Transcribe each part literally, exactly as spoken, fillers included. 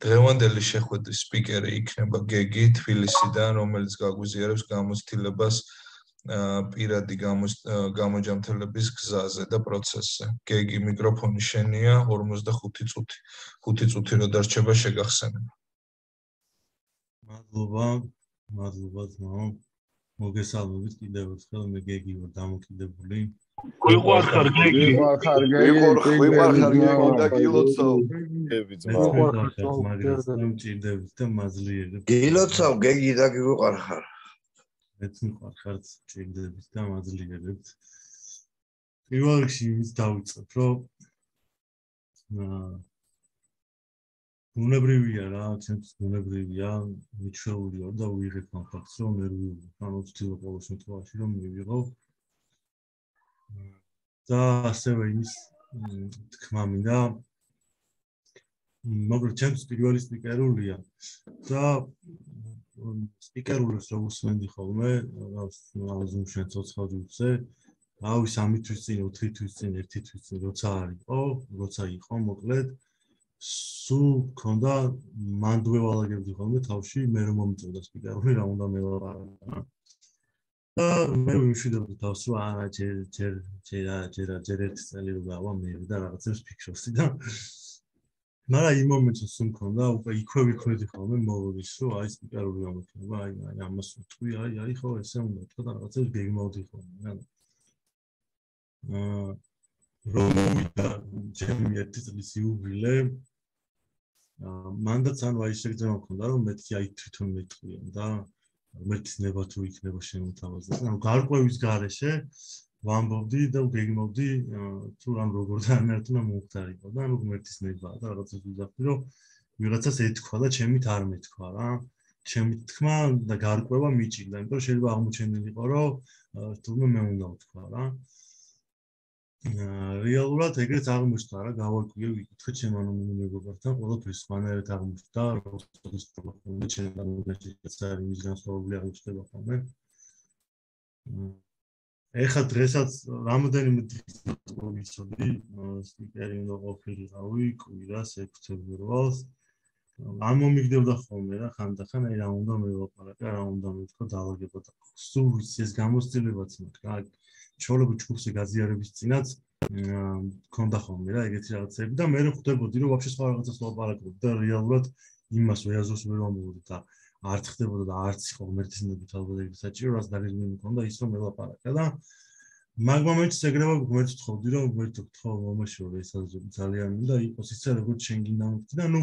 დღევანდელი შეხვედრის სპიკერი იქნება გეგი თბილისიდან, რომელიც გაგვიზიარებს გამოცდილებას პირადი გამოჯამთელების გზაზე და პროცესზე. გეგი, მიკროფონი შენია, ორმოცდახუთი წუთი. ხუთი წუთი რო დარჩება შეგახსენება. მადლობა, მადლობა ძმაო. მოგესალმებით კიდევ ერთხელ, მე გეგი ვარ დამოკიდებული. ვიყვარხარ გეგი, ვიყვარხარ გეგი, ვიყვარხარ გეგი და გილოცავ. ვიყვარხარ, მაგრამ მჭირდებით და მაძლიერებ. გილოცავ გეგი და გიყვარხარ. მეც ვიყვარხარ, მჭირდებით და მაძლიერებ. პირველ რიგში იმის დავიწყებ, რომ აა უნებრივია რა, ჩემთვის უნებრივია, მიჩვეული ვარ და ვიღებ ამ ფაქტს, რომ ნერვიული, ანუ ვცდილობ ყოველ შემთხვევაში რომ მივიღო. და ასევე იმის თქმა მინდა, მაგრამ ჩემთვის პირველი სპიკერულია და სპიკერულებს რო უსმენდი ხოლმე, ზუმში ცოცხალზე, რავი სამი თვის წინ, ოთხი თვის წინ, ერთი თვის წინ, როცა არისო, როცა იყო, მოკლედ სულ მქონდა მანდვე ვალაგებდი ხოლმე თავში, მე რომ მომიწევდა სპიკერული, რა უნდა მელაპარაკო. და მე ვიმშვიდობდი თავს, რომ არა, ჯერ ჯერ ჯერ ჯერ ჯერ ერთი წელი რო გავა მე და რაღაცებს ფიქრობდი და მაგრამ იმ მომენტში სულ მქონდა, უკვე იქვე ვიქნები ხოლმე მოვიდის, რომ აი სპიკერული გამოქნება, აი აი ამას ვთქვი, აი აი ხო ესე უნდა თქვა და რაღაცებს გეგმავდი ხოლმე რა. აა რომ მოვიდა ჩემი ერთი წლის იუბილე მანდაც ანუ აი შეგრძნება მქონდა რომ მეთქი აი თვითონ მეტყვია და მეთქი ნება თუ იქნება შემოთავაზდა ანუ გარკვევის გარეშე ვამბობდი და გეგმავდი თუ რამ როგორ დაანერტნა მომხდარიყო და ანუ მეთქის ნება და რაღაცას ვიზახდი რომ ვიღაცას ეთქვა და ჩემით არ მეთქვა რა ჩემით თქმა და გარკვევა მიჭირდა იმიტომ რომ შეიძლება აღმოჩენილიყო რომ თურმე მე უნდა ვთქვა რა რეალურად ეგრეც აღმოჩნდა რა გავარკვიე ვიკითხე ჩემ ანონიმურ მეგობართან ყველაფერს სხვანაირად აღმოჩნდა როგორც პრობლემა ჩემ გამოგეჭეც არის მის განსხვავებული აღმოჩნდება ხოლმე ეხლა დღესაც რამოდენიმე დღის ვიცოდი სპიკერი უნდა ყოფილიყავი კვირას ექვსი ფებრუარს ამ მომიგდებდა ხოლმე რა ხანდახან აი რა უნდა მელაპარაკა რა უნდა მეთქვა დაალაგება და სულ ვიცი ეს გამოცდილებაც მაქვს რა ჩოლობი ჩხუბზე გაზიარების წინაც მქონდა ხოლმე რა ეგეთი რაღაცები და მე ხვდებოდი რომ ვაფშე სხვა რაღაცას ლაპარაკობ და რეალურად იმას ვეაზოს ვერ ვამბობდი და არ ხდებოდა და არც იყო ღმერთისმობით ალბათ ეგრე საჭირო რაც დაგეგმილი მქონდა ის რომ ელაპარაკა და მაგ მომენტში ეგრევა ღმერთს ვთხოვდი რომ ღმერთო გთხოვ მომაშორე ეს აზრები ძალიან მინდა იყოს ისე როგორც შენ გინდა მოვხდი და ნუ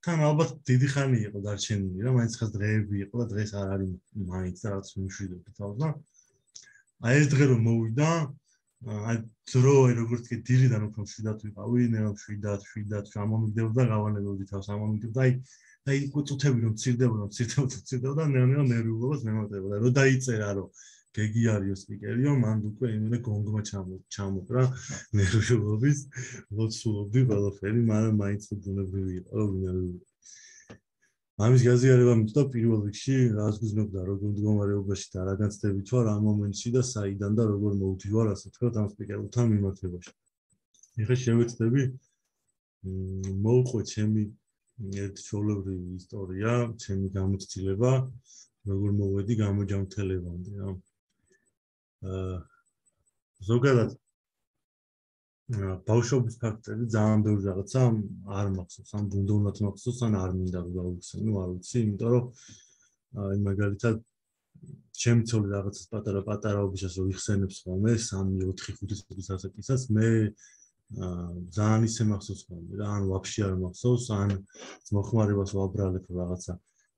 თან ალბათ დიდი ხანი იყო დარჩენილი რა მაინც ხას დღეები იყო და დღეს არ არის მაინც და რაღაც მშვიდობდი თავს და აი ეს დღე რომ მოვიდა აი დრო როგორც კი დილიდან უფრო მშვიდად ვიყავი ნერო მშვიდად მშვიდად ამომიგდებოდა გავანებოდი თავს ამომიგდებოდა აი აი წუთები რომ მცირდებოდა მცირდებოდა მცირდებოდა და ნერო ნერვიულობას მემატებოდა რომ დაიწერა რომ გეგი არისო სპიკერიო მანდ უკვე იმენა გონგმა ჩამოკრა ნერვიულობის ლოცულობდი ყველაფერი მაგრამ მაინც ბუნებრივი იყო რომ ვინარივი ამის გაზიარება მიწდა პირველ რიგში რას გრძნობდა როგორ მდგომარეობაში და რა განცდებით ვარ ამ მომენტში და საიდან და როგორ მოვდივარ ასე თქვა ამ სპიკერთან მიმართებაში. ეხლა შევეცდები მოვყვე ჩემი ერთი ჩვეულებრივი ისტორია, ჩემი გამოცდილება, როგორ მოვედი გამოჯამთელებამდე რა. აა ზოგადად ბავშვობის ფაქტები ძალიან ბევრი რაღაცა არ მახსოვს, ან უნდა უნდათ მახსოვს, ან არ მინდა რომ გავიხსენო, არ ვიცი, იმიტომ რომ აი მაგალითად ჩემი ცოლი რაღაცას პატარა-პატარაობისას რომ იხსენებს ხოლმე, სამი, ოთხი, ხუთი წლის ასაკისას, მე ძალიან ისე მახსოვს ხოლმე რა, ან ვაფშე არ მახსოვს, ან მოხმარებას ვაბრალებ რაღაცა,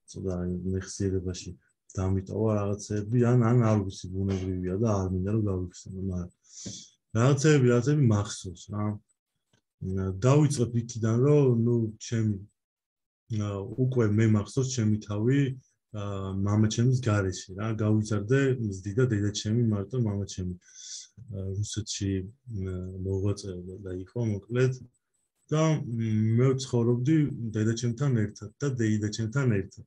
ცოტა მეხსიერებაში დამიტოვა რაღაცები, ან ან არ ვიცი, ბუნებრივია და არ მინდა რომ გავიხსენო, მაგრამ რაღაცები, რაღაცები მახსოვს რა. დავიწყებ იქიდან, რომ ნუ ჩემი უკვე მე მახსოვს ჩემი თავი მამაჩემის გარეშე რა. გავიზარდე მზდიდა დედაჩემი, მარტო მამაჩემი რუსეთში მოღვაწეობდა და იყო მოკლედ და მე ვცხოვრობდი დედაჩემთან ერთად და დეიდაჩემთან ერთად.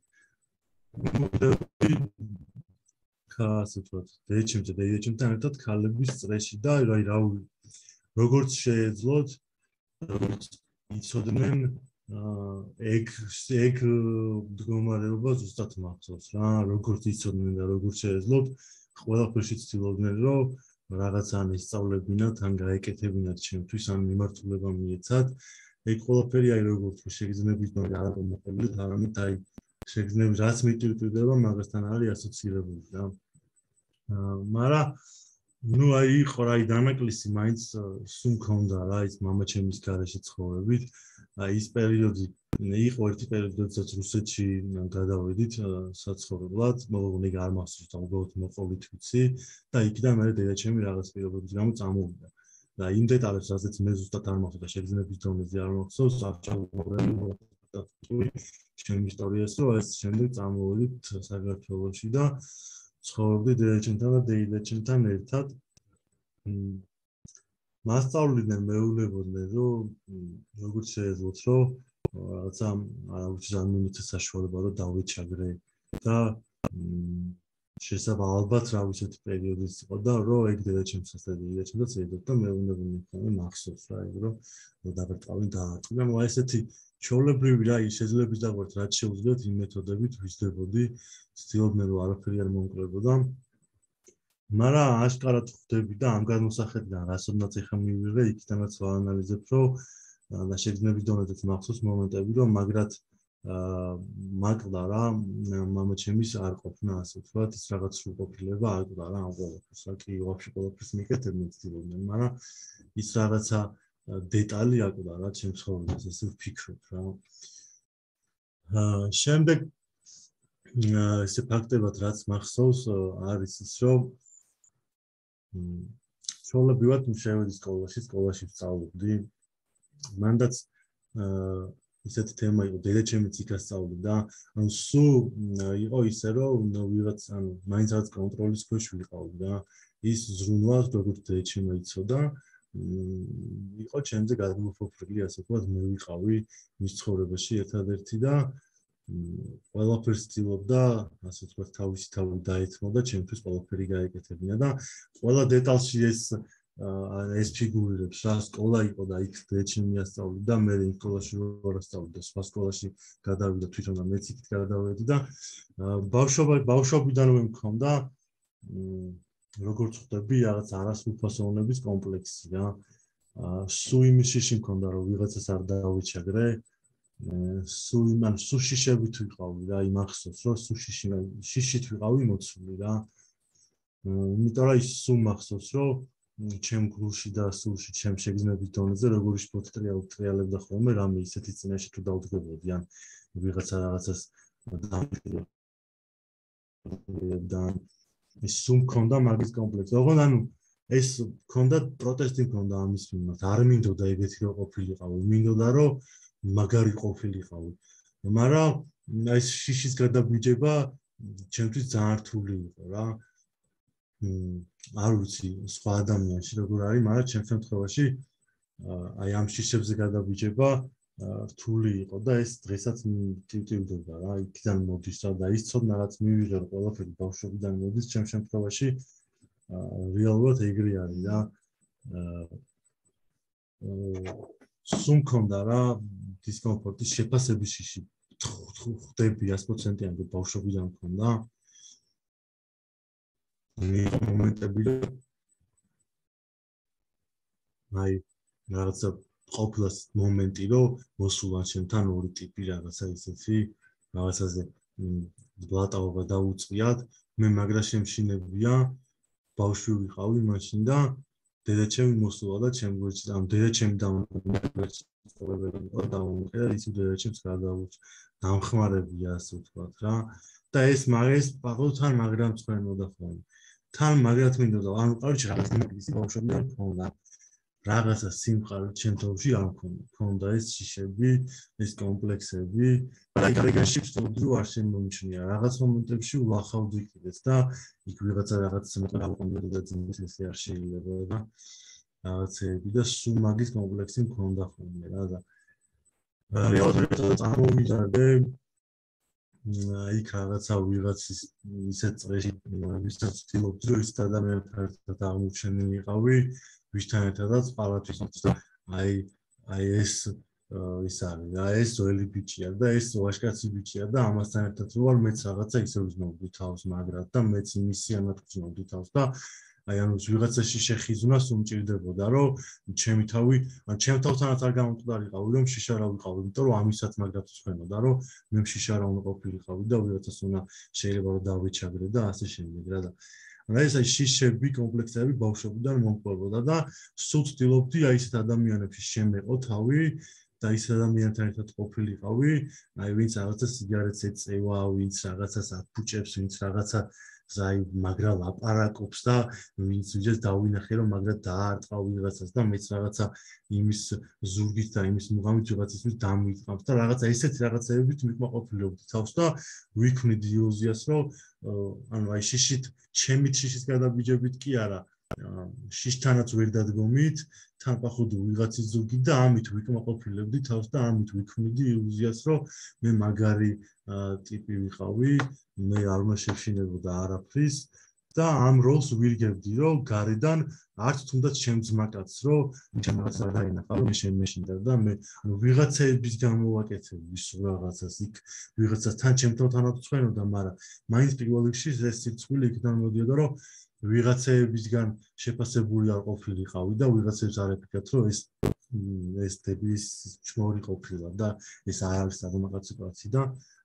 ასე ვთქვათ, დედაჩემთან და დეიდაჩემთან ერთად ქალების წრეში და აი რა როგორც შეეძლოთ, როგორც იცოდნენ ეგ ეგ მდგომარეობა ზუსტად მახსოვს რა, როგორც იცოდნენ და როგორც შეეძლოთ, ყველაფერში ცდილობდნენ, რომ რაღაცა ან ისწავლებინათ, ან გაეკეთებინათ ჩემთვის, ან მიმართულება მიეცათ. ეგ ყველაფერი აი როგორც შეგრძნებით ნუ არ ამოყოლით, არამედ აი შეგრძნებით რაც მიტვირთვდება, მაგასთან არის ასოცირებული რა. მაგრამ ნუ აი იყო რა, აი დანაკლისი მაინც სულ მქონდა რა, ის მამაჩემის გარეშე ცხოვრებით. აი ის პერიოდი იყო ერთი პერიოდი, როდესაც რუსეთში გადავედით საცხოვრებლად, მოგონი არ მახსოვს და უბრალოდ მოყოლით ვიცი და იქიდან მე დედაჩემი რაღაც პირობების გამო წამოვიდა. და იმ დეტალებს, რასაც მე ზუსტად არ მახსოვს და შეგრძნების დონეზე არ მახსოვს, აღჭურვებული ჩემი ისტორიას, რომ ეს შემდეგ წამოვიდით საქართველოში და ცხოვრობდი დედაჩემთან და დეიდაჩემთან ერთად. მასწავლებდნენ, მეულებოდნენ, რომ როგორც შეეძლოთ, რომ რაღაცა არავის არ მიმეცეს საშუალება, რომ დავეჩაგრე და შესაძლოა ალბათ რა ვიცით პერიოდის იყო და რომ ეგ დედაჩემსაც და დეიდაჩემსაც ეძებდა და მეულებოდნენ ხოლმე მახსოვს რა, ეგ რომ დაგარტყავენ დაატყვია. მაგრამ ესეთი ჩვეულებრივი რა ის შეძლებს დაგვართ, რაც შეუძლიათ იმ მეთოდებით ვიზრდებოდი, ცდილობდნენ რომ არაფერი არ მომკლებოდა. მაგრამ აშკარად ხვდები და ამ გადმოსახედიდან რასოდნაც ეხა მივიღე, იქიდანაც ვაანალიზებ, რომ და შეგრძნების დონეზეც მახსოვს მომენტები, რომ მაგრად მაკლდა რა, მამაჩემის არ ყოფნა, ასე ვთქვათ, ის რაღაც სრულყოფილება აკლდა რა ამ ყველაფერს, რა კი ვაფშე ყველაფერს მიკეთებდნენ ცდილობდნენ, მაგრამ ის რაღაცა დეტალი აკლდა რა ჩემს ცხოვრებას, ესე ვფიქრობ რა. შემდეგ ესე ფაქტებად რაც მახსოვს არის ის, რომ ჩვეულებრივად შევედი სკოლაში, სკოლაში ვსწავლობდი. მანდაც ისეთი თემა იყო, დედაჩემიც იქ ასწავლიდა, ანუ სულ იყო ისე, რომ ვიღაც, ანუ მაინც რაღაც კონტროლის ქვეშ ვიყავდი და ის ზრუნვა, როგორც დედაჩემი იცოდა, იყო ჩემზე გადამოფოფრილი, ასე ვთქვათ, მე ვიყავი მის ცხოვრებაში ერთადერთი და ყველაფერს ცდილობდა, ასე ვთქვათ, თავისი თავი დაეთმო და ჩემთვის ყველაფერი გაეკეთებინა და ყველა დეტალში ეს ეს ფიგურირებს რა, სკოლა იყო და იქ დედაჩემი ასწავლიდა და მე იმ სკოლაში ვარ ასწავლიდა, სხვა სკოლაში გადავიდა თვითონ და მეც იქით გადავედი და ბავშვობა ბავშვობიდანვე მქონდა როგორც ხვდები, რაღაც არასრულფასოვნების კომპლექსი რა. სულ იმის შიში მქონდა, რომ ვიღაცას არ დავეჩაგრე, სულ იმან სულ შიშებით ვიყავი რა, იმახსოვს, რომ სულ შიში შიშით ვიყავი მოცული რა. იმიტომ რომ ის სულ მახსოვს, რომ ჩემ გულში და სულში ჩემ შეგრძნების დონეზე როგორი შფოთრია უტრიალებდა ხოლმე რამე ისეთი წინაშე თუ დავდგებოდი ან ვიღაცა რაღაცას და ის სულ მქონდა მაგის კომპლექსი. ოღონდ ანუ ეს მქონდა პროტესტი მქონდა ამის მიმართ. არ მინდოდა ეგეთი რო ყოფილიყავი, მინდოდა რომ მაგარი ყოფილიყავი. მაგრამ ეს შიშის გადაბიჯება ჩემთვის ძალიან რთული იყო რა. არ ვიცი სხვა ადამიანში როგორ არის, მაგრამ ჩემს შემთხვევაში აი ამ შიშებზე გადაბიჯება რთული იყო და ეს დღესაც მტივტივდება რა, იქიდან მოდის რა და ის ცოდნა რაც მივიღე რომ ყველაფერი ბავშვობიდან მოდის, ჩემს შემთხვევაში რეალურად ეგრე არის რა. სულ მქონდა რა დისკომფორტის შეფასების შიში ხვდები one hundred percent-იანზე ბავშვობიდან მქონდა. მომენტები აი რაღაცა ყოფილა მომენტი რომ მოსულა ჩემთან ორი ტიპი რაღაცა ისეთი რაღაცაზე ბლატაობა დაუწყიათ, მე მაგრა შემშინებია ბავშვი ვიყავი მაშინ და დედაჩემი მოსულა და ჩემ გვერდში და დედაჩემი დამოუკიდე ის დედაჩემს გადავუჭ დამხმარებია ასე ვთქვათ რა და ეს მაგას პაყოთან მაგრამ წვენოდა ხოლმე თან მაგრად მინდოდა ანუ კაროჩი რაღაც ის ბავშვები არ მქონდა რაღაცა სიმყარო ჩემ თავში არ მქონდა მქონდა ეს შიშები ეს კომპლექსები და ეგრეში ვსწავლობდი არ შემომჩნია რაღაც მომენტებში ვლახავდი კიდეც და იქ ვიღაცა რაღაც მეტყვი გავყონდა და ძინს ესე არ შეიძლება და რაღაცები და სულ მაგის კომპლექსი მქონდა ხოლმე რა და რეალურად წარმოვიდგინე იქ რაღაცა ვიღაცის ისეთ წრეში ვისაც ვცდილობდი რომ ის ადამიანთან ერთად აღმოჩენილიყავი ვისთან ერთადაც პალატის და აი აი ეს ის არის და ეს ძველი ბიჭია და ეს ვაჟკაცი ბიჭია და ამასთან ერთად რო ვარ მეც რაღაცა ისე ვიზნობდი თავს მაგრად და მეც იმისიანად ვზნობდი თავს და აი ანუ ვიღაცაში შეხიზვნას უმჭირდებოდა რომ ჩემი თავი ან ჩემ თავთანაც არ გამომკვდარიყავი რომ შიშა რა ვიყავი იმიტომ რომ ამისაც მაგრად ვცხოვრობდა რომ მე შიშა რა უნდა ყოფილიყავი და ვიღაცას უნდა შეიძლება რომ დავეჩაგრე და ასე შემდეგ რა და რა ეს აი შიშები კომპლექსები ბავშვობიდან მომყვებოდა და სულ ვცდილობდი აი ესეთ ადამიანებში შემეყო თავი და ის ადამიანთან ერთად ყოფილიყავი, აი ვინც რაღაცა სიგარეტს ეწევა, ვინც რაღაცას აფუჭებს, ვინც რაღაცა აი მაგრა ლაპარაკობს და ვინც ვიძეს დავინახე რომ მაგრა დაარტყა ვიღაცას და მეც რაღაცა იმის ზურგით და იმის მუღამით ვიღაცისთვის დამიწყამს და რაღაცა ესეთი რაღაცეებით მიკმაყოფილებდი თავს და ვიქვნიდი ილუზიას რომ ანუ აი შიშით ჩემით შიშის გადაბიჯებით კი არა შიშთანაც ვერ დადგომით თან პახუდი ვიღაცის ზურგით და ამით ვიკმაყოფილებდი თავს და ამით ვიქვნიდი ილუზიას რომ მე მაგარი ტიპი ვიყავი მე არ უნდა შევშინებოდა არაფრის და ამ როლს ვირგებდი რომ გარედან არც თუნდაც ჩემ ძმაკაცს რომ ჩემ რაღაცა დაინახა რომ მე შემეშინდა და მე ანუ ვიღაცების გამოვაკეთებდი სულ რაღაცას იქ ვიღაცას თან ჩემთანაც ვცხოვრობდა მაგრამ მაინც პირველ რიგში ეს სიცხვილი იქიდან მოდიოდა რომ ვიღაცებისგან შეფასებული არ ყოფილიყავი და ვიღაცებს არ ეკეთებთ რომ ეს ეს ტიპის ჩმორი ყოფილა და ეს არ არის საძმაკაცო კაცი და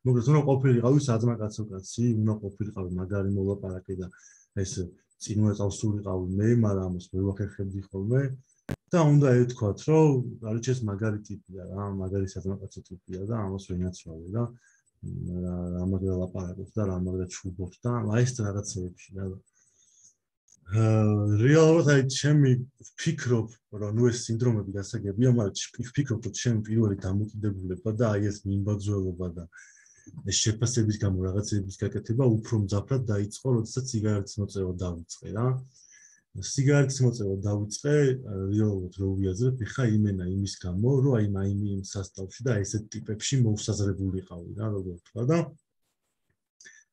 მოკლედ უნდა ყოფილიყავი საძმაკაცო კაცი უნდა ყოფილიყავი მაგარი მოლაპარაკე და ეს წინვე წავს სულიყავი მე მაგრამ ამას ვერ ვახერხებდი ხოლმე და უნდა ეთქვათ რომ არჩ ეს მაგარი ტიპია რა მაგარი საძმაკაცო ტიპია და ამას ვენაცვალე და რა მაგარ ლაპარაკობს და რა მაგარ ჩუბობს და აი ეს რაღაცეებში რა რეალურად აი ჩემი ვფიქრობ რომ ნუ ეს სინდრომები გასაგებია მაგრამ ვფიქრობ რომ ჩემი პირველი დამოკიდებულება და აი ეს მიმბაძველობა და ეს შეფასების გამო რაღაცების გაკეთება უფრო მძაფრად დაიწყო როდესაც სიგარეტის მოწევა დავიწყე რა სიგარეტის მოწევა დავიწყე რეალურად რო ვიაზრებ ხა იმენა იმის გამო რომ აი მაინი იმ სასწავლში და ესეთ ტიპებში მოუსაზრებულიყავი რა როგორ ვთქვა და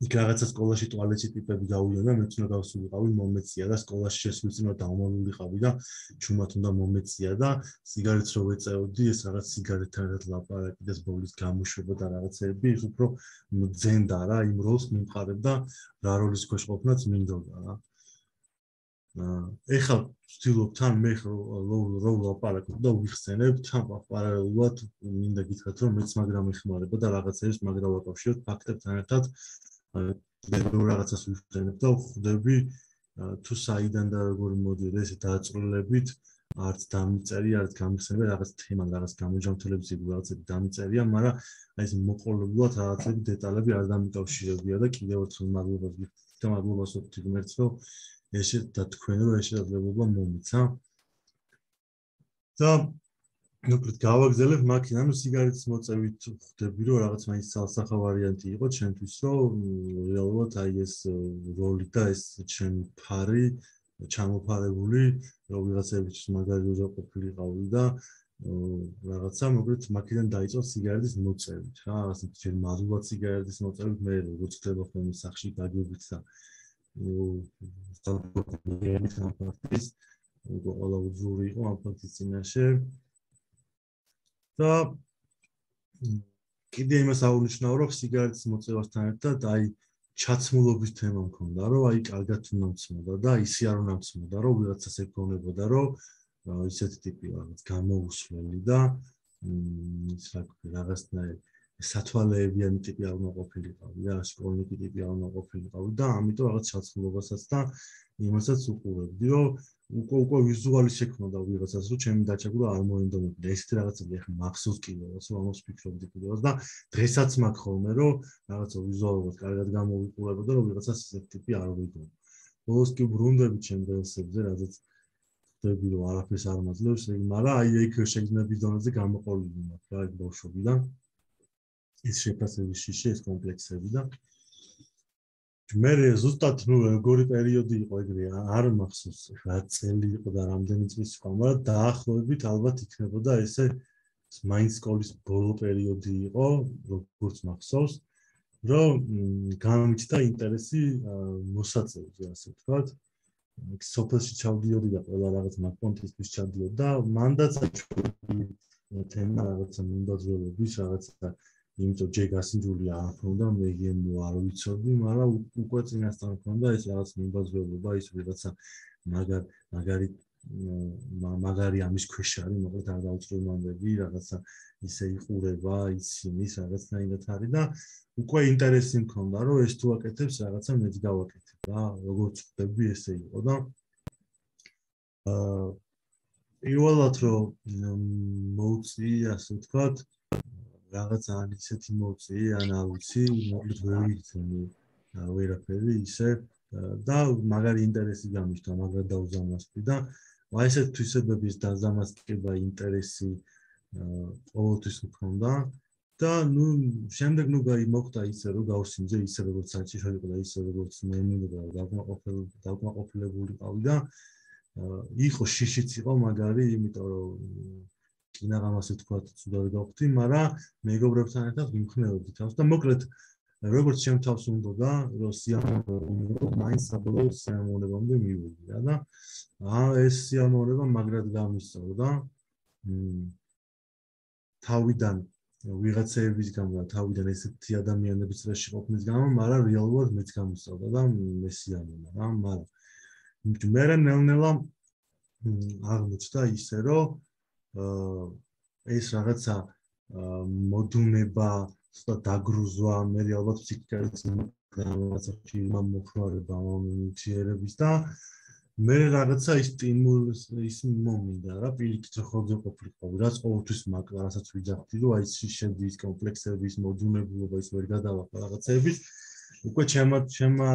იქ რაღაცა სკოლაში ტუალეტში ტიპები გავიდნენ და მეც უნდა გავსულიყავი მომეწია და სკოლაში შესვლის წინ დავმალულიყავი და ჩუმად უნდა მომეწია და სიგარეტს რო ვეწეოდი ეს რაღაც სიგარეტთან ერთად ლაპარაკი და ბოლის გამოშვება და რაღაცეები ის უფრო ძენდა რა იმ როლს მიმყარებდა რა როლის ქვეშ ყოფნაც მინდოდა რა ეხლა ვცდილობ თან მე რო ლაპარაკობ და ვიხსენებ თან პარალელურად მინდა გითხრათ რომ მეც მაგრამ ეხმარება და რაღაცებს მაგრამ ვაკავშირებ ფაქტებთან ერთად მე რაღაცას ვიხსენებ და ვხვდები თუ საიდან და როგორ მოდიოდა ესე დააწრულებით არც დამიწერი არც გამიხსენებ რაღაც თემა რაღაც გამოჯამთელების რაღაცები დამიწერია მაგრამ აი ეს მოყოლებულად რაღაცები დეტალები არ დამიკავშირებია და კიდევ ერთხელ მადლობას გიხდით და მადლობას ვთქვი ღმერთს რომ ესე დათქვენა რომ ეს შესაძლებლობა მომიცა და მოკლედ გავაგზავნებ მაქინა ანუ სიგარეტის მოწევით ხვდები რომ რაღაც მაინც ცალსახა ვარიანტი იყო ჩემთვის რომ რეალურად აი ეს როლი და ეს ჩემი ფარი ჩამოფარებული რომ ვიღაცებისთვის მაგარი როჟა ყოფილიყავი და რაღაცა მოკლედ მაქიდან დაიწყო სიგარეტის მოწევით რა რაღაცა ჯერ მადლობად სიგარეტის მოწევით მე როგორც ხდება ხოლმე სახში გაგებით და სტანდარტის ყველა უძური იყო ამ ფაქტის წინაშე და კიდე იმას აღნიშნავ რომ სიგარეტის მოწევასთან ერთად აი ჩაცმულობის თემა მქონდა რომ აი კარგად უნდა მცმოდა და ისე არ უნდა მცმოდა რომ ვიღაცას ეკონებოდა რომ ისეთი ტიპი რაღაც გამოუსვლელი და ის რაღაცნაირ სათვალეებიანი ტიპი არ უნდა ყოფილიყავი რა სკოლნიკი ტიპი არ უნდა ყოფილიყავი და ამიტომ რაღაც ჩაცმულობასაც და იმასაც უყურებდი რომ უკვე უკვე ვიზუალი შექმნოდა ვიღაცას რომ ჩემი დაჩაგვრა არ მოინდომებდა ესეთი რაღაცები ახლა მახსოვს კიდევაც რომ ამას ვფიქრობდი კიდევაც და დღესაც მაქვს ხოლმე რომ რაღაცა ვიზუალურად კარგად გამოვიყურებოდა რომ ვიღაცას ესეთი ტიპი არ ვიგო ბოლოს კი ბრუნდები ჩემ დღესებზე რადგან ხდები რომ არაფერს არ მაძლევს მაგრამ აი ეგ შეგრძნების დონეზე გამოყოლილი მაქვს რა ეგ ბავშვობიდან ეს შეფასების შიში ეს კომპლექსები და მე ზუსტად ნუ როგორი პერიოდი იყო ეგრე არ მახსოვს რა წელი იყო და რამდენი წლის იყო მაგრამ დაახლოებით ალბათ იქნებოდა ესე მაინც სკოლის ბოლო პერიოდი იყო როგორც მახსოვს რომ გამიჩნდა ინტერესი მოსაწევზე ასე ვთქვათ სოფელში ჩავდიოდი და ყველა რაღაც მაგპონტისთვის ჩავდიოდი და მანდაც თემა რაღაცა მიმდაძველების რაღაცა იმიტომ ჯერ გასინჯული არ ქონდა მე გემო არ ვიცოდი მაგრამ უკვე წინასწარ ქონდა ეს რაღაც მიმდაძველობა ის რაღაცა მაგარ მაგარი მაგარი ამის ქვეშ არის მოკლედ არ დაუწყურმანდები რაღაცა ისე იყურება იცის რაღაცნაირად არის და უკვე ინტერესი მქონდა რომ ეს თუ აკეთებს რაღაცა მეც გავაკეთებ რა როგორც ხდები ესე იყო და აა პირველად რომ მოვწი ასე ვთქვათ რაღაც ან ისეთი მოვწი ან არ ვიცი მოკლედ ვერ ვიცი ვერაფერი ისე და მაგარი ინტერესი გამიშთა მაგრამ დაუზამასდი და აი ესეთ თვისებების დაზამასტება ინტერესი ყოველთვის მქონდა და ნუ შემდეგ ნუ მოხდა ისე რომ გავსინჯე ისე როგორც საჭირო იყო და ისე როგორც მე მინდოდა დავკმაყოფილებული ყავი და იყო შიშიც იყო მაგარი იმიტომ რომ კინაღამასე თქვა ცუდად გავხდი მაგრამ მეგობრებთან ერთად ვიმხნეოდი თავს და მოკლედ როგორც ჩემ თავს უნდოდა რომ სიამოვნებო მაინც საბოლოო სიამოვნებამდე მივედი რა და აა ეს სიამოვნება მაგრად გამისწორდა თავიდან ვიღაცების გამო და თავიდან ესეთი ადამიანების წრეში ყოფნის გამო მაგრამ რეალურად მეც გამისწორდა და მე სიამოვნა რა მაგრამ მე ნელ-ნელა აღმოჩნდა ისე რომ ეს რაღაცა მოდუნება და დაგრუზვა მე ალბათ ფსიქიკალის რაღაცა ფილმა მოხმარება მომიჯერების და მე რაღაცა ის სტიმულის ის მომინდა რა პირიქით ხოძე ყოფილიყო რაც ყოველთვის მაგ რასაც ვიძახდი რომ აი შედის კომპლექსების მოდუნებულობა ის ვერ გადავახა რაღაცების უკვე ჩემმა ჩემმა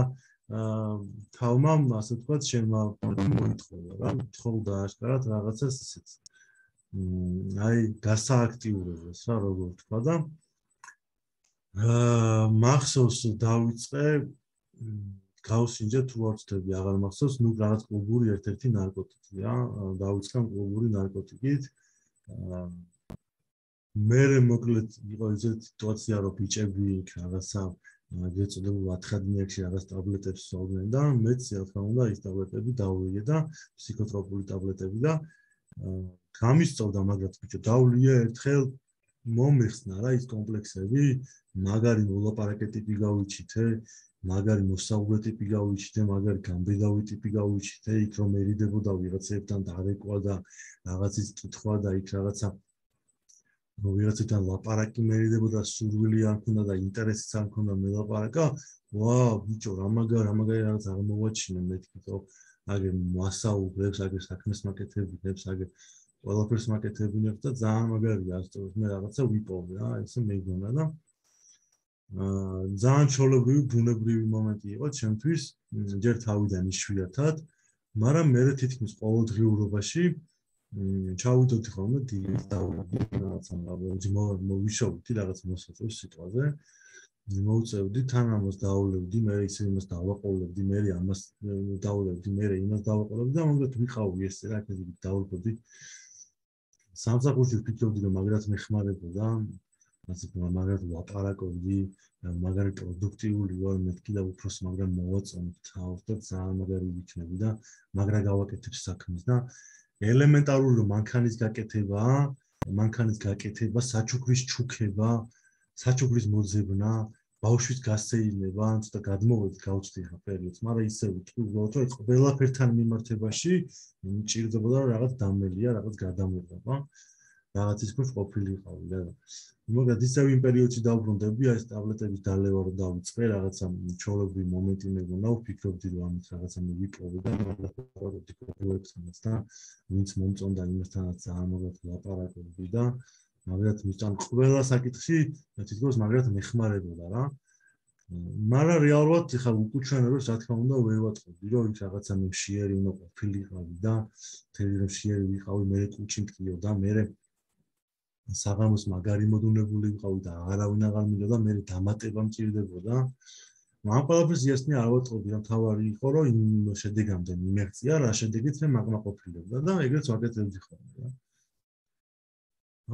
თავმა ასე ვთქვათ შემა მოითხოვა რა თხოვდა აშკარად რაღაცას ისეთ აი გასააქტიურებას რა როგორ ვთქვა და აა მახსოვს დავიწყე გავსინჯე თუ არ ვწდები აღარ მახსოვს ნუ რაღაც კლუბური ერთ-ერთი ნარკოტიკი რა დავიწყე კლუბური ნარკოტიკით მე მოკლედ იყო ისეთი სიტუაცია რომ ბიჭები რაღაცა გეწოდებულ ათხადნიაკში რაღაც ტაბლეტებს სწავლდნენ და მეც რა თქმა უნდა ის ტაბლეტები დავუვიგე და ფსიქოტროპული ტაბლეტები და გამისწორდა მაგრამ ბიჭო დავლია ერთხელ მომიხსნა რა ის კომპლექსები მაგარი მოლაპარაკე ტიპი გავიჩითე მაგარი მოსაუბრე ტიპი გავიჩითე მაგარი გამბედავი ტიპი გავიჩითე იქ რომ ერიდებოდა ვიღაცებთან დარეკვა და რაღაცის კითხვა და იქ რაღაცა ვიღაცებთან ლაპარაკი მერიდებოდა სურვილი არ მქონდა და ინტერესიც არ მქონდა მელაპარაკა ვა ბიჭო რა მაგარი რა მაგარი რაღაც აღმოვაჩინე მეთქი რომ აგერ მასაუბრებს აგერ საქმეს მაკეთებინებს აგერ ყველაფერს მაკეთებინებს და ძალიან მაგარია ასწორებს მე რაღაცა ვიპოვე რა ესე მეგონა და აა ძალიან ჩოლებრივი ბუნებრივი მომენტი იყო ჩემთვის ჯერ თავიდან იშვიათად მაგრამ მე თითქმის ყოველდღიურობაში ჩავიდოდი ხოლმე დილით დავუვიდი რაღაცა მოვიშოვდი რაღაც მოსაწევს სიტყვაზე მოვწევდი თან ამას დავულევდი მე ისე იმას დავაყოლებდი მე ამას დავულევდი მე იმას დავაყოლებდი და მომდეთ ვიყავი ესე რა ესე დავუვიდი სამსახურში ვფიქრობდი რომ მაგრად მეხმარებოდა ასე რომ მაგრად ლაპარაკობდი მაგარი პროდუქტიული ვარ მეთქი და უფრო მაგრამ მოვაწონებ თავს და ძალიან მაგარი ვიქნები და მაგრა გავაკეთებ საქმეს და ელემენტარული მანქანის გაკეთება, მანქანის გაკეთება, საჩუქრის ჩუქება, საჩუქრის მოძებნა, ბავშვის გასეირნება, ცოტა გადმოვედი გავწდი ხა პერიოდს, მაგრამ ისე ვთქვით, რომ ყველაფერთან მიმართებაში მჭირდებოდა რაღაც დამელია, რაღაც გადამოღება, რაღაც ის ქვეშ ყოფილიყავი და მაგრამ ისევ იმ პერიოდში დავბრუნდები, აი ეს ტაბლეტების დალევა რომ დავიწყე, რაღაცა ჩოლებრივი მომენტი მეგონა, ვფიქრობდი რომ ამით რაღაცა მივიპოვე და რაღაცა პროექტს და ვინც მომწონდა იმასთანაც ძალიან მაგათ ლაპარაკობდი და მაგრამ მისთან ყველა საკითხში თითქოს მაგრამ მეხმარებოდა რა. მაგრამ რეალურად ხა უკუჩვენებს რა თქმა უნდა ვერ ვატყობდი რომ ის რაღაცა მე მშიერი უნდა ყოფილიყავი და თელი რომ მშიერი ვიყავი მე კუჩი მткиო და მე საღამოს მაგარი მოდუნებული ვიყავი და არავინ აღარ მინდოდა მე დამატება მჭირდებოდა. მაგრამ ყველაფერს იასნი არ ვატყობდი რომ თავარი იყო რომ იმ შედეგამდე მიმეღწია რა შედეგით მე მაგმაყოფილებდა და ეგრეც ვაკეთებდი ხოლმე რა.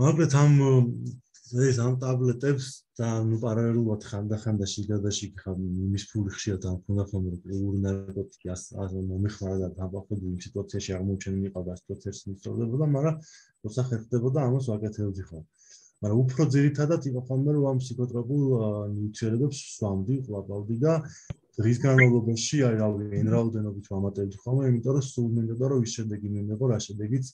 მაგრამ ამ ეს ამ ტაბლეტებს და ნუ პარალელურად ხანდახან და შიგადაში ხა იმის ფული ხშირად ამ ქონდა ხომ პრივური ნარკოტიკი ასე მომიხმარა და დაბახვდი იმ სიტუაციაში აღმოჩენილი ყავდა სიტუაციაში მიწოვდებოდა, მაგრამ როცა ხერხდებოდა ამას ვაკეთებდი ხოლმე. მაგრამ უფრო ძირითადად იყო ხოლმე რომ ამ ფსიქოტროპულ ნიუტრიენტებს სვამდი, ყლაპავდი და დღის განმავლობაში აი რავი εν რაოდენობით ვამატებდი ხოლმე, იმიტომ რომ სულ მინდოდა რომ ის შედეგი მიმეღო, რა შედეგიც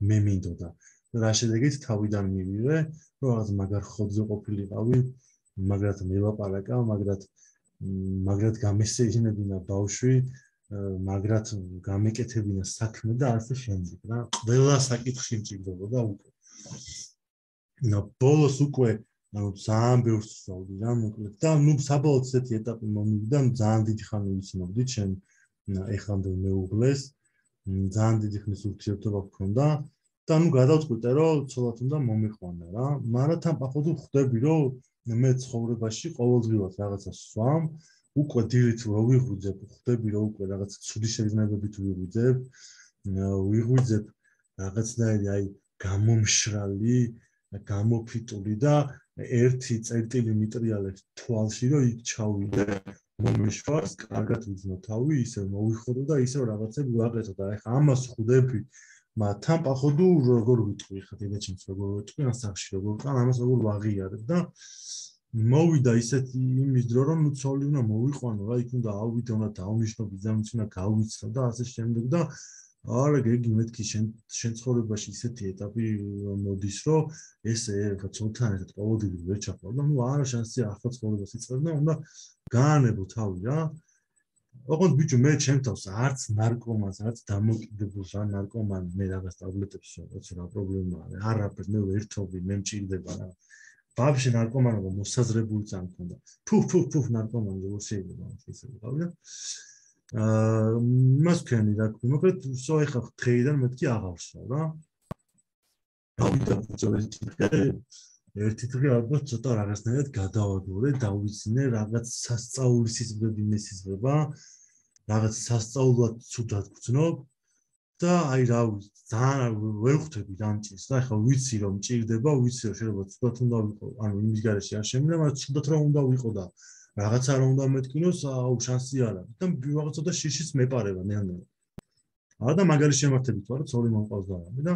მე მინდოდა. რა შედეგით თავიდან მივიღე, რომ რაღაც მაგარ ხობზე ყოფილიყავი, მაგრად მელაპარაკა, მაგრამ მაგრად გამესეინებინა ბავშვი, მაგრად გამეკეთებინა საქმე და ასე შემდეგ რა. ყველა საკითხი მჭირდებოდა უკვე. და ბოლოს უკვე ანუ ძალიან ბევრს ვსწავლდი რა მოკლედ და ნუ საბოლოოდ ესეთი ეტაპი მომივიდა, ძალიან დიდი ხანი ვიცნობდი, ჩემ ეხამდე მეუღლეს, ძალიან დიდი ხნის ურთიერთობა გქონდა. და ნუ გადავწყვიტე რომ ცოლად უნდა მომიყვანა რა, მაგრამ თან პახვდი ხვდები რომ მე ცხოვრებაში ყოველდღიურად რაღაცა სვამ, უკვე დილით რო ვიღვიძებ, ხვდები რომ უკვე რაღაც ცუდი შეგრძნებებით ვიღვიძებ, ვიღვიძებ რაღაცნაირი აი გამომშრალი, გამოფიტული და ერთი წერტილი მიტრიალებს თვალში რომ იქ ჩავიდე მომიშვას, კარგად ვიძნო თავი, ისე მოვიხოდო და ისე რაღაცები ვაკეთო და ეხა ამას ხვდები მაგრამ თან პახვდი როგორ ვიტყვი ხა დედაჩემს როგორ ვიტყვი ან სახში როგორ ვყან ამას როგორ ვაღიარებ და მოვიდა ისეთი იმის დრო რომ ნუ ცოლი უნდა მოვიყვანო რა იქ უნდა ავიდე უნდა დავნიშნო ბიძამიც უნდა გავიცნო და ასე შემდეგ და არა გეგი მეთქი შენ შენ ცხოვრებაში ისეთი ეტაპი მოდის რომ ესე ხა ცოლთან ერთად ყოველდღე ვერ ჩაყავ და ნუ არა შანსია ახლა ცხოვრებას იწყებ და უნდა გაანებო თავი რა ოღონდ ბიჭო მე ჩემ თავს არც ნარკომანს არც დამოკიდებულს რა ნარკომანი მე რაღაც ტაბლეტებს ვსვამ რა პრობლემაა არაფერს მე ვერთობი მე მჭირდება რა ბავშვი ნარკომანობა მოსაზრებული წამი ქონდა ფუ ფუ ფუ ნარკომანი როგორ შეიძლება ისე ვიყავი და აა მას ქენი რა მოკლედ სო ეხა დღეიდან მეთქი აღარ ვსვამ რა გავიდა ბუწოლეთი ერთი დღე ალბათ ცოტა რაღაცნაირად გადავაგორე, დავიცინე რაღაც სასწაულის სიზმრები მესიზმრება, რაღაც სასწაულად ცუდად გძნობ და აი რა ძალიან ვერ ხვდები დამჭირს და ახლა ვიცი რომ მჭირდება, ვიცი რომ შეიძლება ცუდად უნდა ვიყო, ანუ იმის გარეშე არ შემიძლია, მაგრამ ცუდად რა უნდა ვიყო და რაღაცა რა უნდა მეთქინოს, აუ შანსი არ არის და რაღაცა და შიშის მეპარება ნელ-ნელა. არა და მაგარი შემართებით ვარ, ცოლი მომყავს და არა და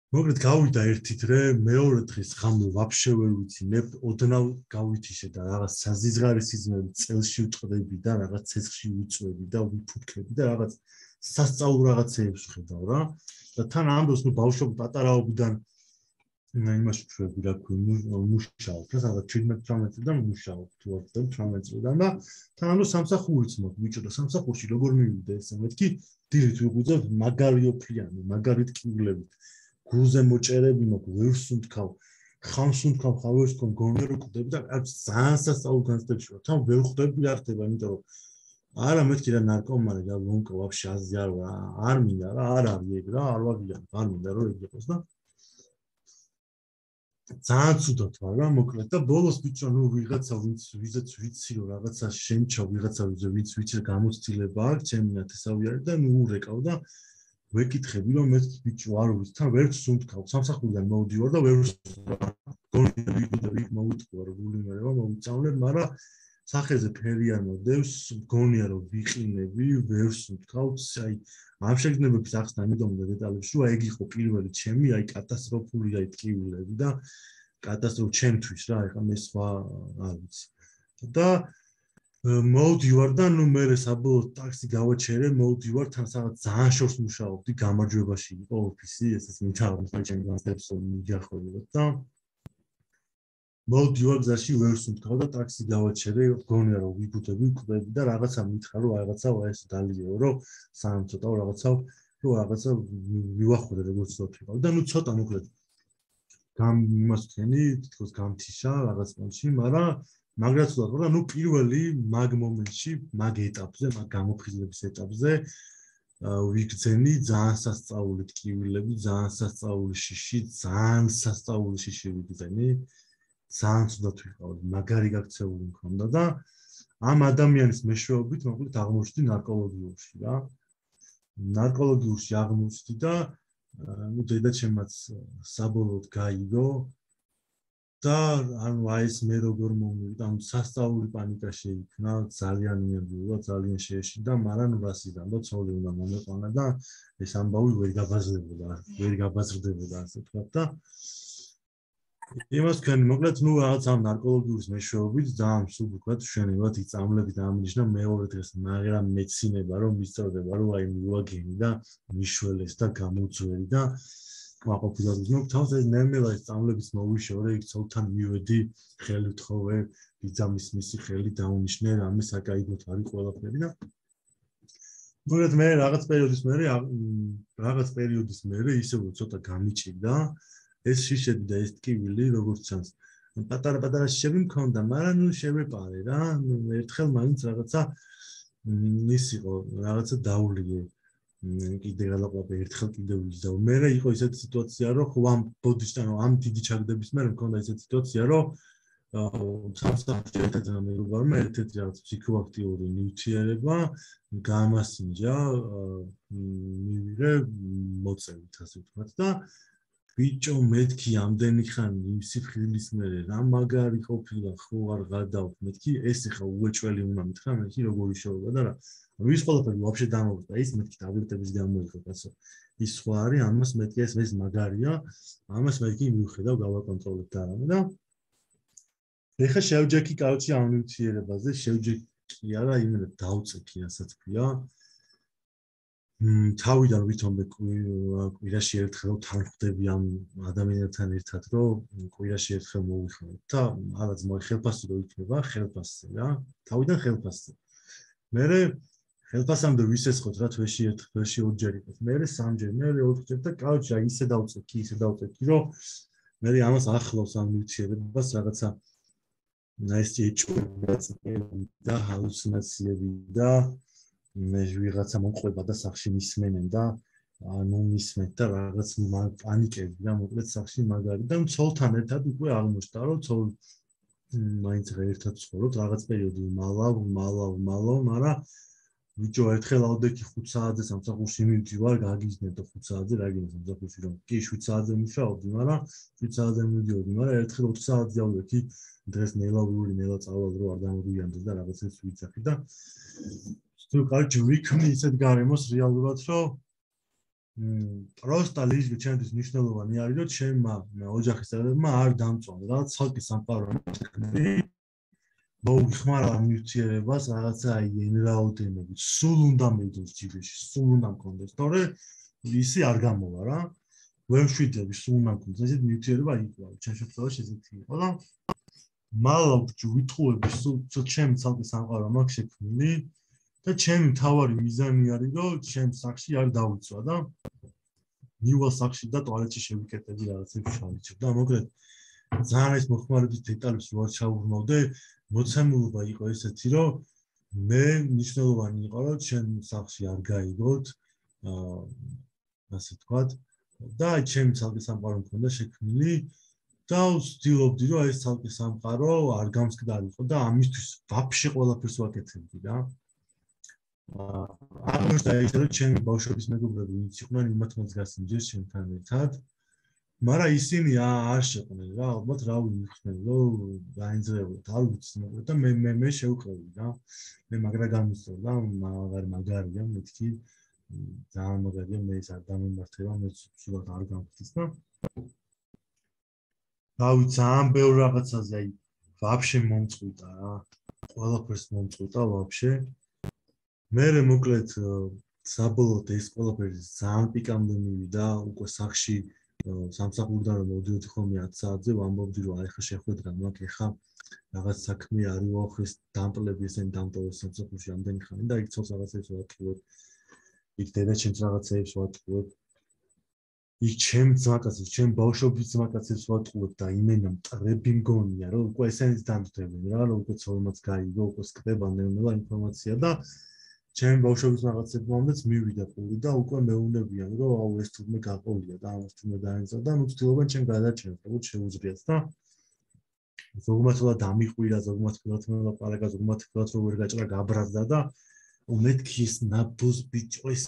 მოკლედ გავიდა ერთი დღე, მეორე დღეს ღამე ვაფშე ვერ ვიცინებ, ოდნავ გავითიშე და რაღაც საზიზღარი სიზმრები წელში ვწყდები და რაღაც ცეცხლში ვიწვევი და ვიფუთქები და რაღაც სასწაულ რაღაცეებს ვხედავ რა. და თან ამ დროს ნუ ბავშვობ პატარაობიდან იმაში ვშვები რა ქვია, მუშაობ, რა რაღაც შვიდმეტ თვრამეტ წლიდან მუშაობ, თუ არ ვთქვი თვრამეტ წლიდან და თან ამ დროს სამსახურიც მოთ ბიჭო და სამსახურში როგორ მივიდე ესე მეთქი დილით ვიღვიძებ მაგარი ოფლიანი, მაგარი ტკივილებით გულზე მოჭერები მაქვს, ვერ სუნთქავ, ხამს სუნთქავ, ხავერს თქვენ გონე რომ ხვდები და ძალიან სასწაულ განცდებში ვარ. თან ვერ ხვდები რა ხდება, იმიტომ რომ არა მეთქი რა ნარკომანი და ლონკო ვაფშე აზი არ ვარ, არ მინდა რა, არ არის ეგ რა, არ ვაგიან, არ მინდა რომ ეგ იყოს და ძალიან ცუდად ვარ რა, მოკლედ და ბოლოს ბიჭო, ნუ ვიღაცა ვინც ვიზეც ვიცი რომ რაღაცა შემჩა ვიღაცა ვინც ვიცი რომ გამოცდილება აქვს, ჩემი ნათესავი არის და ნუ ურეკავ და ვეკითხები რომ მე ბიჭო არ ვიცი თან ვერც სუნთქავ სამსახურიდან მოვდივარ და ვერ გონები და ვიქ მოვიტყვა რომ გული მერევა მოვიწავლებ მაგრამ სახეზე ფერი არ მოდევს გონია რომ ვიყინები ვერ სუნთქავ აი ამ შეგრძნებების ახსნა მიდომდა დეტალებში რომ ეგ იყო პირველი ჩემი აი კატასტროფული აი ტკივილები და კატასტროფა ჩემთვის რა ეხლა მე სხვა არ ვიცი და მოვდივარ და ნუ მე საბოლოოდ ტაქსი გავაჩერე, მოვდივარ თან სადაც ძალიან შორს მუშაობდი, გამარჯვებაში იყო ოფისი, ესეც მითავროს და ჩემი განსხვავებაც მიგახოლებოდ და მოვდივარ გზაში ვერ სუნთქავ და ტაქსი გავაჩერე, გონია რომ ვიბუდები, ვკვდები და რაღაცა მითხრა რომ რაღაცა ეს დალიეო, რომ სამ ცოტა რაღაცა რომ რაღაცა ვივახოდე როგორც ვთქვა და ნუ ცოტა მოკლედ გამ იმას თქვენი, თითქოს გამთიშა რაღაც მომში, მაგრამ მაგრაც ვთქვა და ნუ პირველი მაგ მომენტში, მაგ ეტაპზე, მაგ გამოფხიზლების ეტაპზე ვიგრძენი ძალიან სასწაული ტკივილები, ძალიან სასწაული შიში, ძალიან სასწაული შიში ვიგრძენი. ძალიან ცუდად ვიყავი, მაგარი გაქცეული მქონდა და ამ ადამიანის მეშვეობით მოკლედ აღმოჩნდი ნარკოლოგიურში რა. ნარკოლოგიურში აღმოჩნდი და ნუ დედაჩემაც საბოლოოდ გაიგო და ანუ აი ეს მე როგორ მომივიდა, ანუ სასწაული პანიკა შეიქმნა, ძალიან იმედია, ძალიან შეეშინდა, მაგრამ რასიდან და ცოლი უნდა მომეყვანა და ეს ამბავი ვერ გაბაზრდებოდა, ვერ გაბაზრდებოდა ასე ვთქვათ და იმას თქვენ მოკლედ ნუ რაღაც ამ ნარკოლოგიის მეშვეობით ძალიან სულ ვთქვათ შენებად იწამლებით ამნიშნა მეორე დღეს მაგრამ მეცინება რომ მისწორდება რომ აი მივაგენი და მიშველეს და გამოძვერი და ყოფილად ნუ თავს ეს ნემელა ეს წამლებიც მოვიშორე იქ ცოლთან მივედი ხელი თხოვე ბიძამის მისი ხელი დაუნიშნე რამე საკაიგოთ არის ყველაფერი და მოკლედ მე რაღაც პერიოდის მერე რაღაც პერიოდის მერე ისე რომ ცოტა გამიჭირდა ეს შიშები და ეს ტკივილი როგორც ჩანს პატარა-პატარა შიშები მქონდა, მაგრამ ნუ შევეპარე რა, ნუ ერთხელ მაინც რაღაცა ის იყო, რაღაცა დაულიე. კიდე გალაყავე ერთხელ კიდე ვიზავ. მე იყო ისეთი სიტუაცია, რომ ხო ამ ბოდიშთან, ამ დიდი ჩაგდების მერე მქონდა ისეთი სიტუაცია, რომ სამსახურში ერთ-ერთი მეგობარმა ერთ-ერთი რაღაც ფსიქოაქტიური ნივთიერება გამასინჯა, მივიღე მოწევით ასე ვთქვათ და ბიჭო მეთქი ამდენი ხანი იმ სიფხილის მერე რა მაგარი ყოფილა ხო არ გადავთ მეთქი ეს ხა უეჭველი უნდა მითხრა მეთქი როგორი შევება და რა ის ყველაფერი ვაფშე დამოვიდა ის მეთქი ტაბლეტების გამოიყო კაცო ის სხვა არის ამას მეთქი ეს ეს მაგარია ამას მეთქი მივხედავ გავაკონტროლებ და რამე და ეხა შევჯექი კაუჩი ამ ნივთიერებაზე შევჯექი არა იმენა დავწექი რასაც ქვია თავიდან ვითომე კვირაში ერთხელ თან ხდები ამ ადამიანთან ერთად რომ კვირაში ერთხელ მოვიხმარებ და რაღაც მოი ხელფასი რო იქნება ხელფასზე რა თავიდან ხელფასზე მე ხელფასამდე ვისესხოთ რა თვეში ერთ თვეში ორჯერ იყოს მე სამჯერ მე ოთხჯერ და კაუჩი აი ისე დავწექი ისე დავწექი რომ მე ამას ახლავს ამ ნივთიერებას რაღაცა ეს ეჭვები და ჰალუცინაციები და მე ვიღაცა მომყვება და სახში მისმენენ და ანუ მისმენთ და რაღაც პანიკები და მოკლედ სახში მაგარი და ცოლთან ერთად უკვე აღმოჩნდა რომ ცოლ მაინც ერთად ცხოვრობთ რაღაც პერიოდი მალავ მალავ მალავ მაგრამ ბიჭო ერთხელ ავდექი ხუთ საათზე სამსახურში მივდივარ გაგიზნებ და ხუთ საათზე რა გინდა სამსახურში რომ კი შვიდ საათზე მუშაობდი მაგრამ შვიდ საათზე მივდიოდი მაგრამ ერთხელ ოთხ საათზე ავდექი დღეს ნელავიური ნელა წავალ რო არ დამოგვიანდეს და რაღაცებს ვიცახი და თუ კარგი ვიქმნი ისეთ გარემოს რეალურად რომ პროსტა ლიზი ჩემთვის მნიშვნელოვანი არის რომ ჩემმა ოჯახის წევრებმა არ დამწვან რა ცალკე სამყარო მოვიხმარა ნივთიერებას რაღაცა აი ენრაოდენობით სულ უნდა მიდოს ჯიბეში სულ უნდა მქონდეს თორე ისი არ გამოვა რა ვემშვიდები სულ უნდა მქონდეს ესეთ ნივთიერება იყო ჩემ შემთხვევაში ესეთი იყო და მალავ ვიტყუები სულ ჩემ ცალკე სამყარო მაქვს შექმნილი და ჩემი მთავარი მიზანი არის რომ ჩემ სახში არ დავიცვა და მივალ სახში და ტუალეტში შევიკეტები რაღაცებს შევიჭრ და მოკლედ ძალიან ეს მოხმარების დეტალებს რო არ ჩავურმავდე მოცემულობა იყო ესეთი რომ მე მნიშვნელოვანი იყო რომ ჩემ სახში არ გაიგოთ აა ასე ვთქვათ და ჩემი ცალკე სამყარო მქონდა შექმნილი და ვცდილობდი რომ ეს ცალკე სამყარო არ გამსკდარიყო და ამისთვის ვაფშე ყველაფერს ვაკეთებდი რა ამას დაიწყო ჩემი ბავშვობის მეგობრები ვინც იყვნენ იმათმაც გასინჯეს ჩემთან ერთად მაგრამ ისინი არ შეყვნენ რა ალბათ რა ვიმიხდნენ რომ დაინძრებოდ არ ვიცი მაგრამ და მე მე მე შევყევი რა მე მაგრა გამისწორდა მაგარ მაგარია მეთქი ძალიან მაგარია მე ის არ დამემართება მე სულად არ გამხდის და რა ვიცი ძალიან ბევრ რაღაცაზე აი ვაფშე მომწყვიტა რა ყველაფერს მომწყვიტა ვაფშე მერე მოკლედ საბოლოოდ ეს ყველაფერი ძალიან პიკამდე მივიდა უკვე სახში სამსახურიდან რომ მოვიდოდი ხოლმე ათ საათზე ვამბობდი რომ აი ხა შეხვედრა მაქვს ეხა რაღაც საქმე არის ოხეს დამპლები ესენ დამტოვეს სამსახურში ამდენი ხანი და იქ ცოლს რაღაცებს ვატყუებ იქ დედაჩემს რაღაცებს ვატყუებ იქ ჩემ ძმაკაცებს ჩემ ბავშვობის ძმაკაცებს ვატყუებ და იმენა მტრები მგონია რომ უკვე ესენიც დამტვებენ რა რომ უკვე ცოლმაც გაიგო უკვე სკდება ნელა ინფორმაცია და ჩემ ბავშვობის რაღაცებმაც მივიდა პური და უკვე მეუნებიან რომ აუ ეს თურმე გაყოლია და ამას თურმე დაენწა და ნუ ცდილობენ ჩემ გადაჭერს როგორც შეუძლიათ და ზოგმათ რა დამიყვირა ზოგმათ რა ლაპარაკა ზოგმათ რა რომ ვერ გაჭრა გაბრაზდა და მეთქი ეს ნაბუს ბიჭო ეს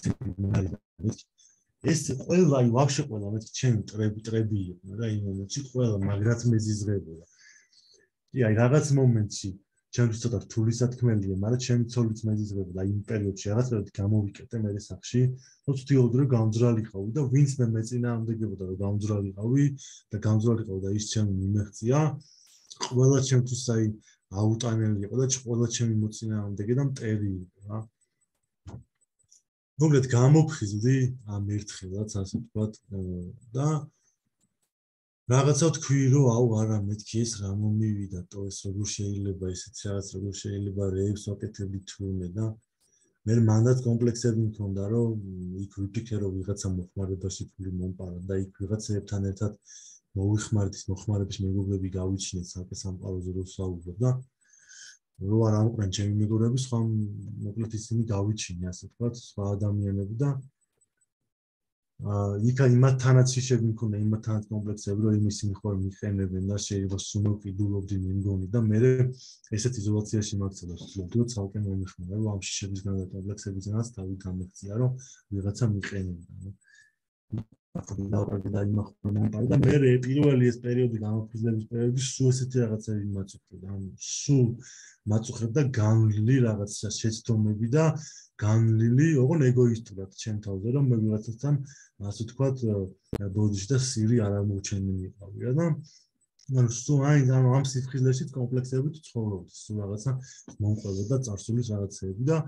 ეს ყველა აი ვაფშე ყველა მე ჩემი ტრები ტრები იყო რა იმ მომენტში ყველა მაგრაც მეზიზღებოდა. კი აი რაღაც მომენტში ჩემთვის ცოტა რთული სათქმელია, მაგრამ ჩემი ცოლიც მეზიზღებოდა აი იმ პერიოდში რაღაცა გამოვიკეთე მე სახში, რომ ვთქვი რომ გამძრალიყავი და ვინც მე მეწინააღმდეგებოდა რომ გამძრალიყავი და გამძრალიყავი და ის ჩემი მიმეღწია, ყველა ჩემთვის აი აუტანელი იყო და ყველა ჩემი მოწინააღმდეგე და მტერი იყო რა. მოკლედ გამოფხიზდი ამ ერთხელაც ასე ვთქვათ და რაღაცა თქვი რომ აუ არა მეთქი ეს რა მომივიდა თო ეს როგორ შეიძლება ისეთ რაღაც როგორ შეიძლება რეებს ვაკეთებდი თურმე და მე მანდაც კომპლექსები მქონდა რომ იქ ვიფიქრე რომ ვიღაცა მოხმარებაში ფული მომპარა და იქ ვიღაცებთან ერთად მოვიხმარეთ ის მოხმარების მეგობრები გავიჩინეთ საკე სამყაროზე რო საუბრობ და რო არ ამყრენ ჩემი მეგობრები სხვა მოკლედ ისინი გავიჩინე ასე ვთქვათ სხვა ადამიანები და აა იქა იმათთანაც ისები მქონდა იმათთანაც კომპლექსები რომ იმის მიხარ მიყენებენ და შეიძლება სუმოკიდულობდი მე მგონი და მე ესეთ იზოლაციაში მაქცევდა ვთქვი ცალკე მომიხმარა რომ ამ შიშებისგან და კომპლექსებისგანაც თავი გამექცია რომ ვიღაცა მიყენებდა და იმახმარა და მე პირველი ეს პერიოდი გამოფხიზლების პერიოდი სულ ესეთი რაღაცები მაწუხებდა ან სულ მაწუხებდა განვლილი რაღაც შეცდომები და განვლილი ოღონ ეგოისტურად ჩემ თავზე რომ მე ვიღაცასთან ასე ვთქვათ ბოდიში და სირი არ ამოვჩენილი იყავი რა და ანუ სულ აი ამ სიფხიზლეშიც კომპლექსებით ცხოვრობდი სულ რაღაცა მომყვებოდა წარსულის რაღაცები და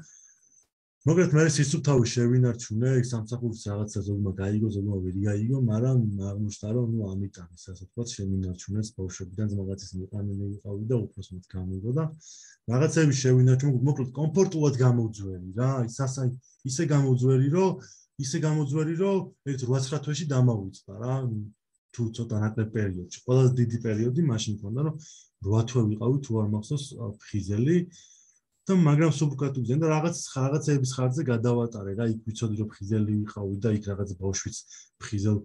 მოკლედ მე სისუფთავი შევინარჩუნე ის სამსახურის რაღაცა ზოგმა გაიგო ზოგმა ვერ გაიგო მაგრამ აღმოჩნდა რომ ნუ ამიტომ ის ასე ვთქვათ შევინარჩუნეს ბავშვებიდან რაღაცის მიყანილი ვიყავი და უფრო მეტ გამიგო და რაღაცები შევინარჩუნე მოკლედ კომფორტულად გამოვძვერი რა ის ასე ისე გამოვძვერი რომ ისე გამოვძვერი რომ ერთ რვა-ცხრა თვეში დამავიწყდა რა თუ ცოტა ნაკლებ პერიოდში ყველაზე დიდი პერიოდი მაშინ მქონდა რომ რვა თვე ვიყავი თუ არ მახსოვს ფხიზელი და მაგრამ სუბკატუ გზენ და რაღაც რაღაცების ხარჯზე გადავატარე რა იქ ვიცოდი რომ ფხიზელი ვიყავი და იქ რაღაც ბავშვიც ფხიზელ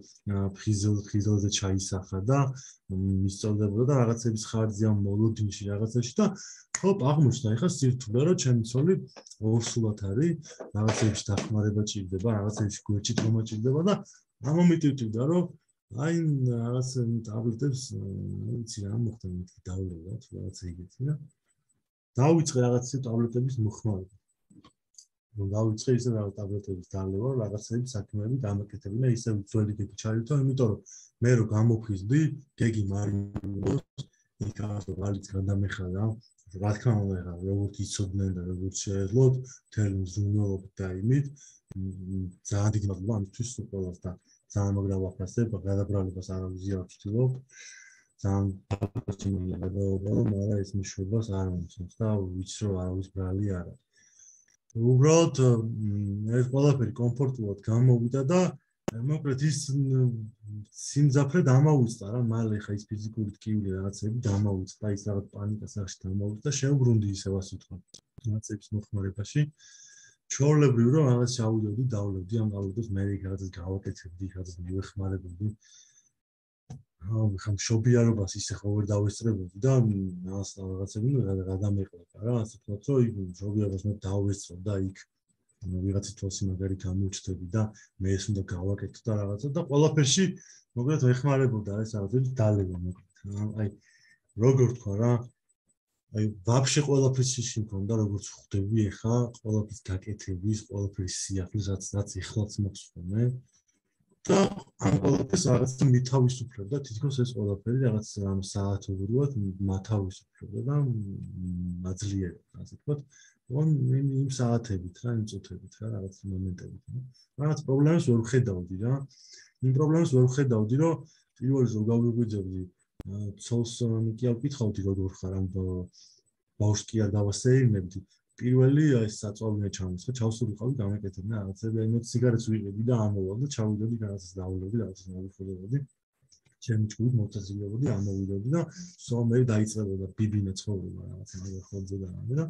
ფხიზელ ფხიზელზე ჩაისახა და მისწორდებოდა და რაღაცების ხარჯზე ამ მოლოდინში რაღაცაში და ხოპ აღმოჩნდა ეხა სირთულე რომ ჩემი ცოლი ორსულად არის რაღაცების დახმარება ჭირდება რაღაცების გვერდში თქმა ჭირდება და ამომიტივდა რომ აი რაღაც ტაბლეტებს ვიცი რა მოხდა მეთქი დავლევა თუ რაღაც ეგეთი და დავიწყე რაღაც ტაბლეტების მოხმარება. რომ დავიწყე ისე რაღაც ტაბლეტების დალევა, რაღაცები საქმეები დამაკეთებინა და ისე ძველი გეგი ჩაივთო, იმიტომ რომ მე რო გამოფხიზდი, გეგი მარინოს, იქაც რალიც გადამეხარა, რა თქმა უნდა, როგორც იცოდნენ და როგორც შეეძლოთ, მთელი მზრუნველობით და იმით, ძალიან დიდი მადლობა ამისთვის უყოლას და ძალიან მაგრა ვაფასებ, გადაბრალებას არ ვიზიარებ ვთქვი. ძალიან პასტიმია გადაობა, მაგრამ ეს მშვიდობას არ მომცემს და ვიცი რომ არავის ბრალი არ არის. უბრალოდ ეს ყველაფერი კომფორტულად გამოვიდა და მოკლედ ის სიმძაფრე დამავიწყდა რა, მალე ხა ის ფიზიკური ტკივილი რაღაცები დამავიწყდა, ის რაღაც პანიკა სახში დამავიწყდა და შეუბრუნდი ისევ ასე ვთქვათ. რაღაცების მოხმარებაში ჩვეულებრივ რომ რაღაც შავიდოდი, დავლევდი ამ გავლოდოს მე რაღაცას გავაკეთებდი, რაღაცას მივეხმარებოდი. აა ხომ შობიარობას ისე ხო ვერ დავესწრებოდი და მას რაღაცები გადამეყოლა რა ასე ვთქვათ რომ იქ შობიარობას მე დავესწრო და იქ ვიღაცის თვალსი მაგარი გამოჩნდები და მე ეს უნდა გავაკეთო და რაღაცა და ყველაფერში მოკლედ ვეხმარებოდა ეს რაღაცები დალევა მოკლედ აი როგორ თქვა რა აი ვაფშე ყველაფერს შიში მქონდა როგორც ხვდები ეხა ყველაფრის გაკეთების ყველაფრის სიახლის რაც რაც ეხლაც მოხსოვნა და ამ ყველაფერს რაღაც მითავისუფლებდა თითქოს ეს ყველაფერი რაღაც რამ საათობრივად მათავისუფლებდა და აძლიერებდა ასე ვთქვათ on იმ საათებით რა იმ წუთებით რა რაღაც მომენტებით რაღაც პრობლემას ვერ ვხედავდი რა იმ პრობლემას ვერ ვხედავდი რომ პირველი ზოგ გავიგვიძებდი ცოლს კი არ ვკითხავდი როგორ ხარ ამ ბავშვს კი არ დავასეირნებდი პირველი ეს საწვავია ჩამოსხა ჩავსულიყავი გამეკეთებინა რაღაცები აი მე სიგარეტს ვიყიდი და ამოვალ და ჩავიდოდი რაღაცას დავულები რაღაცას მოვიხოლებოდი ჩემი ჭკუით მოვწაზილებოდი ამოვიდოდი და სულ მე დაიწყებოდა ბიბინე ცხოვრება რაღაცა ხოლმე და რამე და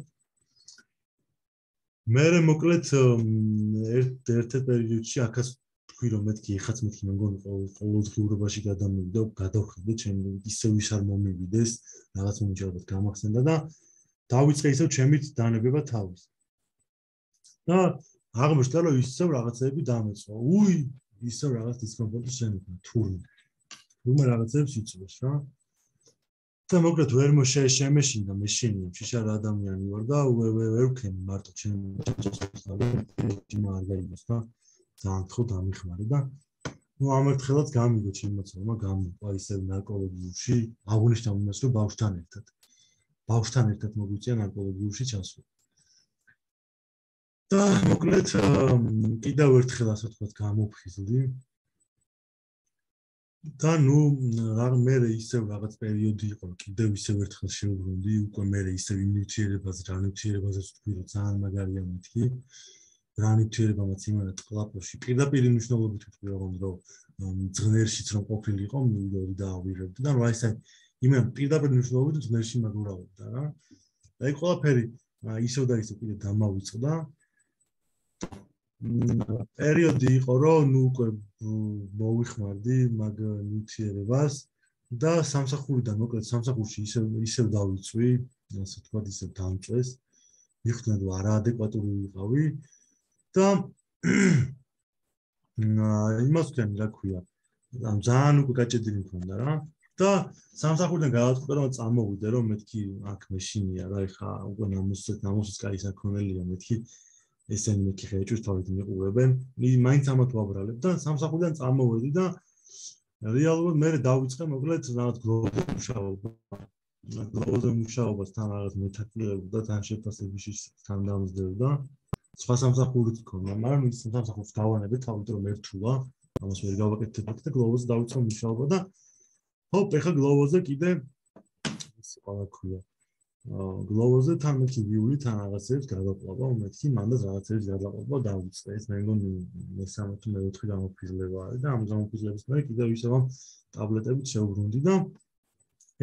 მე მოკლედ ერთ ერთ პერიოდში ახაც თქვი რომ მეთქი ეხაც მეთქი მე მგონი ყოველდღიურობაში გადამივიდა გადავხედე ჩემი ისე ვის არ მომივიდეს რაღაც მომჭერბად გამახსენდა და დავიწყე ისევ ჩემით დანებება თავის და აღმოჩნდა რომ ისევ რაღაცები დამეწყო უი ისე რაღაც დისკომფორტი შენება თურმე. თურმე რაღაცებს იწვევს რა. და მოკლედ ვერ შემეშინდა მეშინია შიშარ ადამიანი ვარ და ვერ ვქენი მარტო ჩემ ჩემ არ გაიგოს და ძალიან ხო დამიხმარე და ну ამერთხელაც გამიგო ჩემ მოცულმა გამიგო ისე ნარკოლოგიურში აღნიშნავ იმას რომ ბავშვთან ერთად ბავშვთან ერთად მოგვიწია ნარკოლოგიურში ჩასვლა და მოკლედ კიდევ ერთხელ ასე ვთქვათ გამოფხიზლდი და ნუ რა მე ისევ რაღაც პერიოდი იყო კიდევ ისევ ერთხელ შევუბრუნდი უკვე მე ისევ იმნიუთიერებაზე რა ნიუთიერებაზე ვთქვი რომ ძალიან მაგარია მეთქი რა ნიუთიერებამაც იმანა ტყლაპოში პირდაპირ მნიშვნელობით ვთქვი რომ ძღნერშიც რომ ყოფილიყო მივიდოდი და ავირებდი და რა ისე იმენ პირდაპირ მნიშვნელობით ძღნერში მაგურავობდა რა და ეს ყველაფერი ისევ და ისევ კიდე დამავიწყდა პერიოდი იყო რომ ნუ უკვე მოვიხმარდი მაგ ნიუთიერებას და სამსახურიდან მოკლედ სამსახურში ისევ ისევ დავიწვი ასე ვთქვათ ისევ დამწვეს მიხდნენ რომ არაადეკვატური ვიყავი და იმას ვქენი რა ქვია ამ ძალიან უკვე გაჭედილი მქონდა რა და სამსახურიდან გადავწყვიტე რომ წამოვიდე რომ მეთქი აქ მეშინია რა ეხა უკვე ნამუსით ნამუსის კაი საქონელია მეთქი ესენი მეთქი ხეჭვის თავით მიყურებენ მაინც ამათ ვაბრალებ და სამსახურიდან წამოვედი და რეალურად მე დავიწყე მოკლედ რაღაც გლობალურ მუშაობას გლობალურ მუშაობას თან რაღაც მეთაკლებ და თან შეფასებაში თან დამზდებ და სხვა სამსახურით მქონდა მაგრამ ის სამსახურს გავანებე თავით რომ ერთულა ამას ვერ გავაკეთებ და გლობალზე დავიწყე მუშაობა და ჰოპ ეხა გლობალზე კიდე ის ყველა ქვია გლობალზე თან მეთქი ვიული თან რაღაცებს გადაყვება მეთქი მანდაც რაღაცებს გადაყვება დავიწყე ეს მე მგონი მესამე თუ მეოთხე გამოფხიზლება არის და ამ გამოფხიზლების მერე კიდევ ისევ ამ ტაბლეტებით შევუბრუნდი და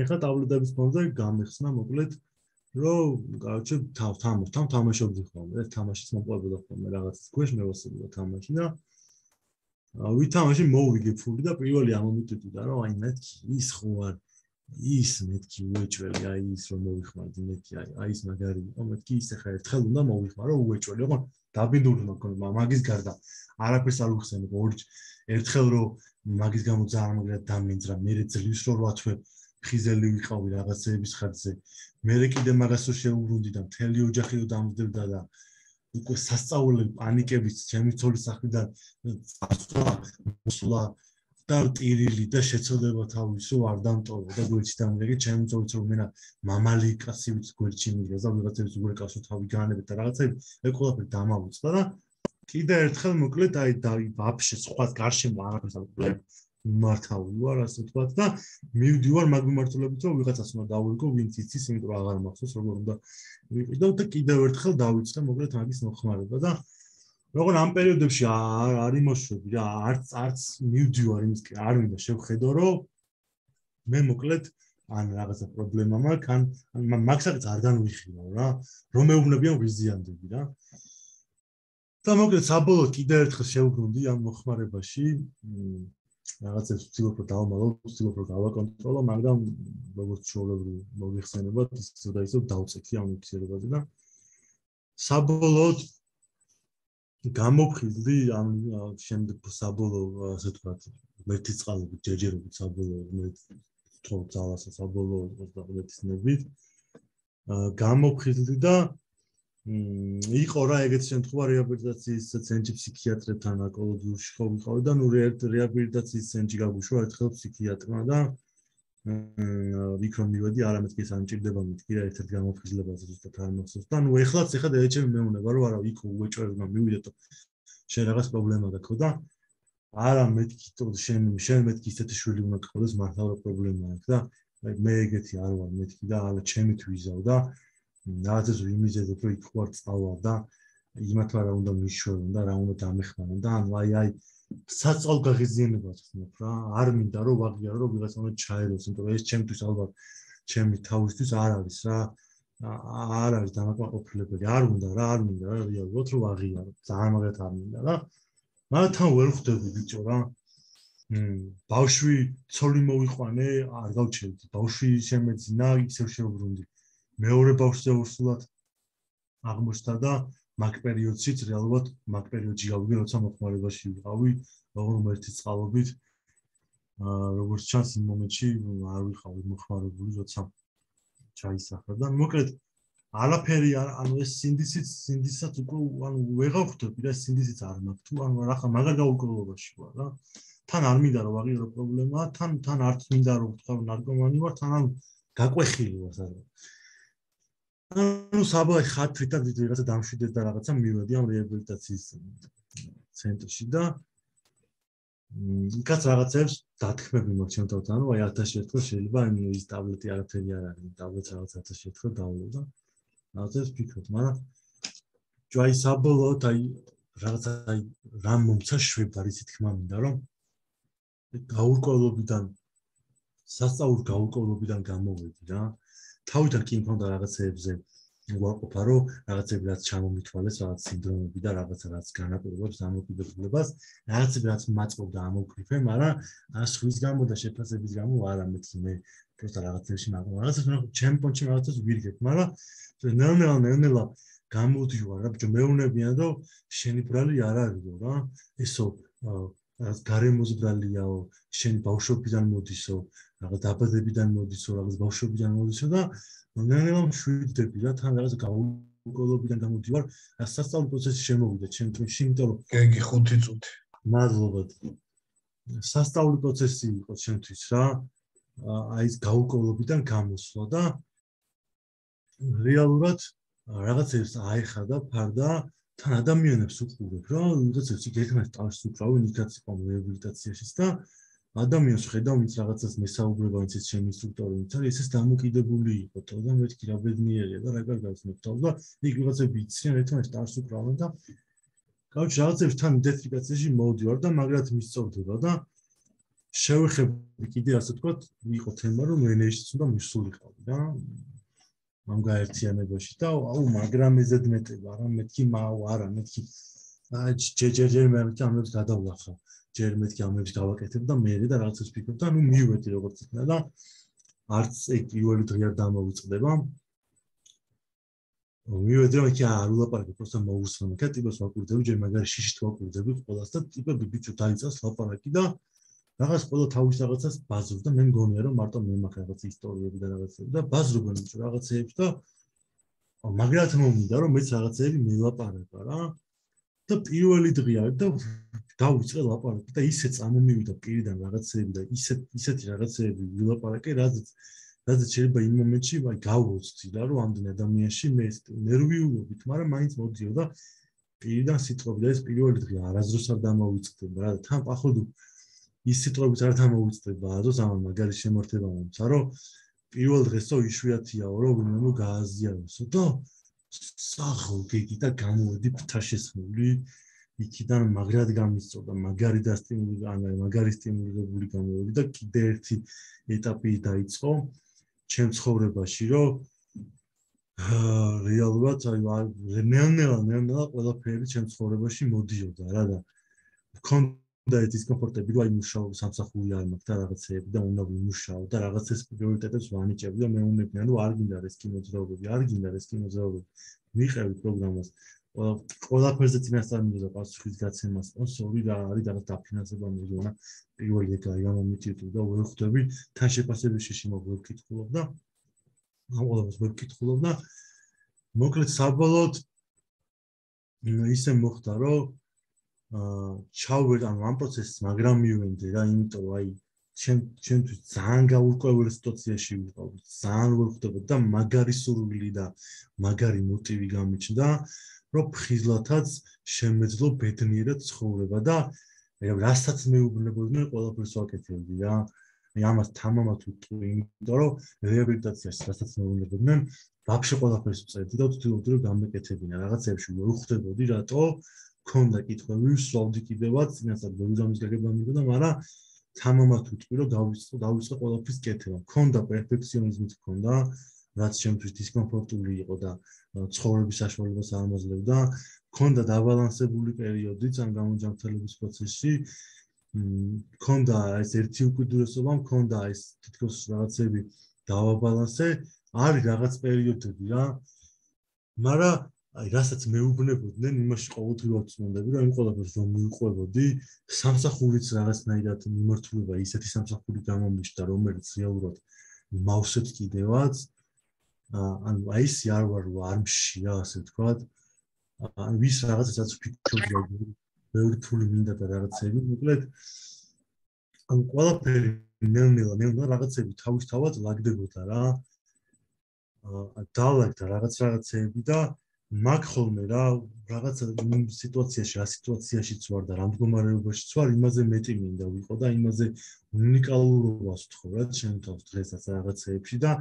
ეხა ტაბლეტების ფონზე გამიხსნა მოკლედ რომ კაროჩე თავ თამაშ თან თამაშობდი ხოლმე ეს თამაშიც მოყვებოდა ხოლმე რაღაც ქვეშ მევასებოდა თამაში და ვითამაში მოვიგე ფული და პირველი ამომიტვიდა რომ აი მეთქი ის ხო არ ის მეთქი უეჭველი აი ის რომ მოვიხმარდი მეთქი აი აი ის მაგარი იყო მეთქი ის ახლა ერთხელ უნდა მოვიხმარო უეჭველი იყო დაბინდული მაქონდა მაგის გარდა არაფერს არ უხსენებ ორი ერთხელ რომ მაგის გამო ძალიან მაგრად დამინძრა მე ძლივს რომ რა თვე ხიზელი ვიყავი რაღაცების ხარჯზე მე კიდე მაგას რო შევუბრუნდი და მთელი ოჯახი რო დამძდებდა და უკვე სასწაულები პანიკებით ჩემი ცოლის სახლიდან წასვლა მოსვლა და ტირილი და შეცოდება თავის რომ არ დამტოვო და გვერდში დამიგე ჩემი ცოლიც რომ მენა მამალი კაცივით გვერდში მიგეს და ვიღაცების უგრეკასო თავი განებით და რაღაცები ეს ყველაფერი დამავიწყდა და კიდე ერთხელ მოკლედ აი და ვაფშე სხვა გარშემო არაფერს არ ვუყურებ მართავი ვარ ასე ვთქვათ და მივდივარ მაგ მიმართულებით რომ ვიღაცას უნდა დავირგო ვინც იცის იმიტომ რომ აღარ მახსოვს როგორ უნდა ვიყიდო და კიდევ ერთხელ დავიწყე მოკლედ მაგის მოხმარება და როგორ ამ პერიოდებში არ არ იმოშვები რა არც არც მივდივარ იმისკენ არ მინდა შევხედო რომ მე მოკლედ ან რაღაცა პრობლემა მაქვს ან მაგსაც არ განვიხილავ რა რომ მეუბნებიან ვიზიანდები რა და მოკლედ საბოლოოდ კიდევ ერთხელ შევუბრუნდი ამ მოხმარებაში რაღაცებს ვცდილობ რომ დავმალო, ვცდილობ რომ გავაკონტროლო, მაგრამ როგორც ჩვეულებრივ მოიხსენებათ, ისევ და ისევ დავწექი ამ უცირებაზე და საბოლოოდ გამოფხიზლდი ამ შემდეგ საბოლოო ასე ვთქვათ, ერთი წყალობით ჯეჯერობით საბოლოო მე თქო ძალასა საბოლოო ოცდაოთხის ნებით გამოფხიზლდი და იყო რა ეგეთ შემთხვევა რეაბილიტაციის ცენტრი ფსიქიატრებთან ონკოლოგიურში ხო ვიყავი და ნუ რეაბილიტაციის ცენტრი გაგუშვა ერთხელ ფსიქიატრმა და ვიქრომ მივედი არამედ კი სამჭირდება მეთქი რა ერთ-ერთ გამოფხიზლებაზე ზუსტად არ მახსოვს და ნუ ეხლაც ეხლა დაეჭები მეუნება რომ არა იქ უეჭვებმა მივიდეთ შენ რაღაც პრობლემა გაქვს და არა მეთქი შენ შენ მეთქი ისეთი შვილი უნდა გქონდეს მართლა პრობლემა აქვს და მე ეგეთი არ ვარ მეთქი და არა ჩემით ვიზავ და რაღაცას ვიმიზედებ რომ იქ ვარ წავალ და იმათ რა უნდა მიშვენ და რა უნდა დამეხმარონ და ანუ აი აი საწოლ გაღიზიანებას ხმობ რა არ მინდა რომ ვაღიარო რომ ვიღაცა უნდა ჩაეროს იმიტომ რომ ეს ჩემთვის ალბათ ჩემი თავისთვის არ არის რა არ არის დამაკმაყოფილებელი არ უნდა რა არ მინდა რა რეალურად რომ ვაღიარო ძალიან მაგათ არ მინდა რა მაგრამ თან ვერ ხვდები ბიჭო რა ბავშვი ცოლი მოვიყვანე არ გავჩერდი ბავშვი შემეძინა ისევ შევუბრუნდი მეორე ბავშვზე უსულად აღმოჩნდა და მაგ პერიოდშიც რეალურად მაგ პერიოდში გავიგე როცა მოხმარებაში ვიყავი რომელი წყალობით აა როგორც ჩანს იმ მომენტში არ ვიყავი მოხმარებული, როცა ჩაისახა და მოკლედ არაფერი არ ანუ ეს სინდისიც სინდისაც უკვე ანუ ვეღარ ხვდები და სინდისიც არ მაქვს თუ ანუ რა მაგარ გაურკვევლობაში ვარ რა თან არ მინდა რომ აღიარო პრობლემაა თან თან არც მინდა რომ ვთქვა ნარკომანი ვარ თან ანუ გაყვეხილი ვარ სადღაც ანუ საბოლოო ხათრით და ვიღაცა დამშვიდეს და რაღაცა მივედი ამ რეაბილიტაციის ცენტრში და იქაც რაღაცებს დათქმები მაქვს ჩემ თავთან ანუ აი ათასი ერთხელ შეიძლება ის ტაბლეტი არაფერი არ არის ტაბლეტს რაღაც ათასი ერთხელ დავულო და რაღაცებს ვფიქრობ მაგრამ ჯაი საბოლოოდ აი რაღაცა აი რამ მომცა შვება ისი თქმა მინდა რომ გაურკვევლობიდან სასწაულ გაურკვევლობიდან გამოვედი რა თავიდან კი მქონდა რაღაცეებზე ვაყოფა რომ რაღაცები რაც ჩამომითვალეს რაღაც სინდრომები და რაღაცა რაც განაპირობებს დამოკიდებულებას რაღაცები რაც მაწყობდა ამოկრიფე მაგრამ სხვის გამო და შეფასების გამო არა მეთქი მე просто რაღაცებში მაგ რაღაცას მე ჩემპიონში რაღაცას ვირგებ მაგრამ ნელ-ნელა ნელ-ნელა გამოდივარ რა ბიჭო მეუნებიან რომ შენი ბრალი არ არისო რა ესო რაღაც გარემოზბრალიაო შენი ბავშვობიდან მოდისო რაღაც დაბადებიდან მოდისო რაღაც ბავშვობიდან მოდისო და ნელ-ნელა მშვიდდები რა თან რაღაც გაურკვევლობიდან გამოდივარ სასწავლო პროცესი შემოვიდა ჩემთვის იმიტომ რომ გეგი ხუთი წუთი მადლობა სასწავლო პროცესი იყო ჩემთვის რა აი ეს გაურკვევლობიდან გამოსვლა და რეალურად რაღაცებს აიხადა ფარდა თან ადამიანებს უყურებ რა ვიღაცებს იქნებ ტალს უკრავენ იქაც იყო რეაბილიტაციაშიც და ადამიანს ხედავ ვინც რაღაცას მესაუბრება ვინც ჩემი ინსტრუქტორი ვინც არის ესეც დამოკიდებული იყო თო და მეთქი რა ბედნიერია და რა კარგავს მეთქავ და იქ ვიღაცები იციან ერთმანეთს ტალს უკრავენ და კაუჩ რაღაცებს თან იდენტიფიკაციაში მოვდივარ და მაგრად მისწორდება და შევეხები კიდე ასე ვთქვათ იყო თემა რომ ენერგიით უნდა მისულიყავი რა ამ გაერთიანებაში და აუ მაგრამ ეზედმეტება რა მეთქი მაუ არა მეთქი აი ჯეჯეჯე მე ამებს გადავლახა ჯერ მეთქი ამებს გავაკეთებ და მე და რაღაცას ვფიქრობ და ნუ მივედი როგორც იქნა და არც ეგ პირველი დღე არ დამოვიწყდება მივედი რომ იქ არ ულაპარაკებ просто მოусმენ და ტიპებს ვაკვირდები ჯერ მაგარი შიშით ვაკვირდები ყველას და ტიპები ბიჭო დაიწას ლაპარაკი და რაღაც ყველა თავის რაღაცას ბაზრობ და მე მგონია რომ მარტო მე მაქვს რაღაც ისტორიები და რაღაცები და ბაზრობენ ბიჭო რაღაცეებს და მაგრად მომიდა რომ მეც რაღაცეები მელაპარაკა რა და პირველი დღე არის და დავიწყე ლაპარაკი და ისე წამომივიდა პირიდან რაღაცეები და ისე ისეთი რაღაცეები ვილაპარაკე რაზეც რაზეც შეიძლება იმ მომენტში ვაი გავოცდი და რომ ამდენ ადამიანში მე ნერვიულობით მაგრამ მაინც მოდიო და პირიდან სიტყვები და ეს პირველი დღე არასდროს არ დამოვიწყდება რა თან პახოვდი ის სიტყვებით არ დამოვიწყდება აზოს ამ მაგარი შემართება მომცა რომ პირველ დღესო იშვიათიაო რომ ვინმე გააზიაროსო და სახო გიგი და გამოვედი ფთაშესხმული იქიდან მაგრად გამისწორდა მაგარი დასტიმული ანუ მაგარი სტიმულირებული გამოვედი და კიდე ერთი ეტაპი დაიწყო ჩემ ცხოვრებაში რომ რეალურად აი ნელ-ნელა ნელ-ნელა ყველაფერი ჩემ ცხოვრებაში მოდიოდა რა და და ეს დისკომფორტები რომ აი მუშაობ სამსახური არ მაქვს და რაღაცეები და უნდა ვიმუშაო და რაღაცას პრიორიტეტებს ვანიჭებდი და მეუნებიან რომ არ გინდა რისკი მოძრაობები არ გინდა რისკი მოძრაობები მიყევი პროგრამას ყველაფერზე წინასწარ მინდოდა პასუხის გაცემა სპონსორი და არის რაღაც დაფინანსება მიგონა პირველი ეგ არის გამომიტივდი და ვერ ხვდები თან შეფასებაში შემოგვეკითხულობ და ამ ყველას ვეკითხულობ და მოკლედ საბოლოოდ ისე მოხდა რომ აა ჩავერ ანუ ამ პროცესს მაგრამ მივენდი რა იმიტომ რომ აი ჩემ ჩემთვის ძალიან გაურკვეველ სიტუაციაში ვიყავ ძალიან ვერ ხვდებოდი და მაგარი სურვილი და მაგარი მოტივი გამიჩნდა რომ ფხიზლათაც შემეძლო ბედნიერად ცხოვრება და რასაც მეუბნებოდნენ ყველაფერს ვაკეთებდი რა აი ამას თამამად ვიტყვი იმიტომ რომ რეაბილიტაციაში რასაც მეუბნებოდნენ ვაფშე ყველაფერს ვწერდი და ვთქვი რომ გამეკეთებინა რაღაცებში ვერ ხვდებოდი რატო ქონდა კითხვები, ვსვავდი კიდევაც, წინასწარ ბერძამის გაგება მიგონდა, მაგრამ თამამად ვიტყვი, რომ დავიწყო, დავიწყო ყველაფრის კეთება. ქონდა პერფექციონიზმით ქონდა, რაც ჩემთვის დისკომფორტული იყო და ცხოვრების საშუალებას არ ამოძლებდა. ქონდა დაბალანსებული პერიოდიც ამ გამოჯანმრთელების პროცესში. ქონდა ეს ერთი უკიდურესობა, ქონდა ეს თითქოს რაღაცები დავაბალანსე, არის რაღაც პერიოდები რა. მაგრამ აი რასაც მეუბნებოდნენ, იმაში ყოველდღიურად წმონდები, რომ იმ ყველაფერს რომ მიუყვებოდი, სამსახურიც რაღაცნაირად მიმართულება ისეთი სამსახური გამომიშდა, რომელიც რეალურად მავსებს კიდევაც. ანუ აი ეს არ ვარ არ მშია, ასე ვთქვათ. ან ვის რაღაცასაც ფიქრობდა, ბევრი ფული მინდა და რაღაცები, მოკლედ ან ყველაფერი ნელ-ნელა ნელ-ნელა რაღაცები თავისთავად ლაგდებოდა რა. აა დალაგდა რაღაც რაღაცები და მაგ ხოლმე რა რაღაცა სიტუაციაში, რა სიტუაციაშიც ვარ და რა მდგომარეობაშიც ვარ, იმაზე მეტი მინდა ვიყო და იმაზე უნიკალურობას ვთხოვ რა ჩემ თავს დღესაც რაღაცეებში და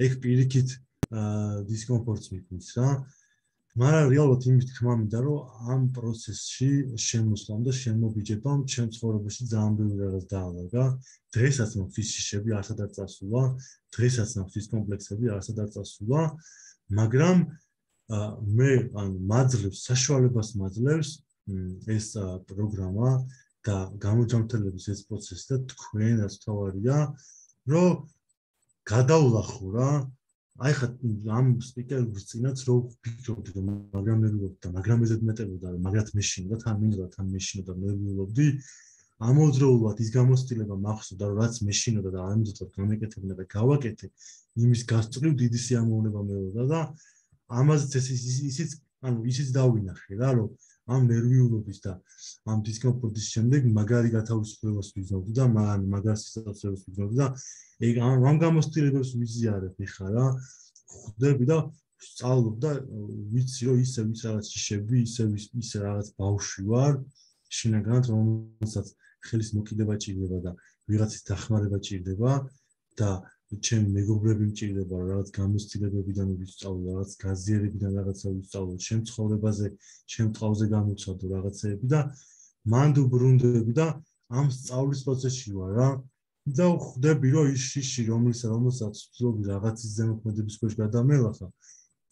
ეგ პირიქით აა დისკომფორტს მიქმნის რა. მაგრამ რეალურად იმის თქმა მინდა რომ ამ პროცესში შემოსვლამ და შემობიჯებამ ჩემ ცხოვრებაში ძალიან ბევრი რაღაც დაალაგა. დღესაც მაქვს ის შიშები არსად არ წასულა, დღესაც მაქვს ის კომპლექსები არსად არ წასულა, მაგრამ მე ან მაძლევს საშუალებას მაძლევს ეს პროგრამა და გამოჯამრთელების ეს პროცესი და თქვენაც თავარია რომ გადავლახო რა აი ხა ამ სპიკერების წინაც რო ვფიქრობდი რომ მაგრამ ნერვიულობდი და მაგრამ ეზეთ მეტებოდა რომ მაგრად მეშინდა თან მინდა თან მეშინდა და ნერვიულობდი ამოძრაულად ის გამოცდილება მახსოვდა რომ რაც მეშინოდა და ამიტომ გამეკეთებინა და გავაკეთე იმის გასწრილ დიდი სიამოვნება მეუღდა და ამაზეც ისიც ანუ ისიც დავინახე რა რომ ამ ნერვიულობის და ამ დისკომფორტის შემდეგ მაგარი გათავისუფლებას ვიზნობდი და მაგარ სიტუაციებს ვიზნობდი და ეგ ამ გამოცდილებებს ვიზიარებ ხა რა ხვდები და სწავლობ და ვიცი რომ ისე ვის რაღაც შიშები ისე ისე რაღაც ბავშვი ვარ შინაგანად რომელსაც ხელის მოკიდება ჭირდება და ვიღაცის დახმარება ჭირდება და ჩემი მეგობრები მჭირდება რაღაც გამოცდილებებიდან ვისწავლო რაღაც გაზიარებიდან რაღაცა ვისწავლო ჩემ ცხოვრებაზე ჩემ ტყავზე გამოცადო რაღაცეები და მანდ უბრუნდები და ამ სწავლის პროცესში ვარ რა და ხვდები რომ ის შიში რომელსაც რომელსაც ვცდილობ რაღაცის ზემოქმედების ქვეშ გადამელახა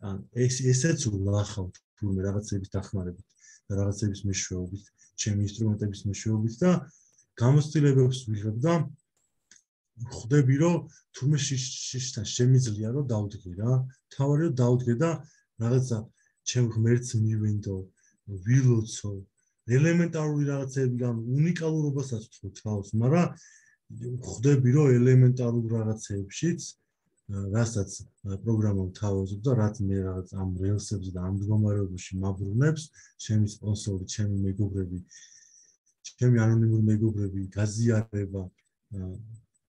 ან ეს ესეც ვლახავ თურმე რაღაცების დახმარებით და რაღაცების მეშვეობით ჩემი ინსტრუმენტების მეშვეობით და გამოცდილებებს ვიღებ და ხვდები რომ თურმე შიშთან შემიძლია რომ დავდგე რა თავარი რომ დავდგე და რაღაცა ჩემ ღმერთს მივენდო ვილოცო ელემენტარული რაღაცები გამ უნიკალურობასაც ვთქვი თავს მაგრამ ხვდები რომ ელემენტარულ რაღაცებშიც რასაც პროგრამამ თავაზობ და რაც მე რაღაც ამ რელსებზე და ამ მდგომარეობაში მაბრუნებს ჩემი სპონსორი ჩემი მეგობრები ჩემი ანონიმური მეგობრები გაზიარება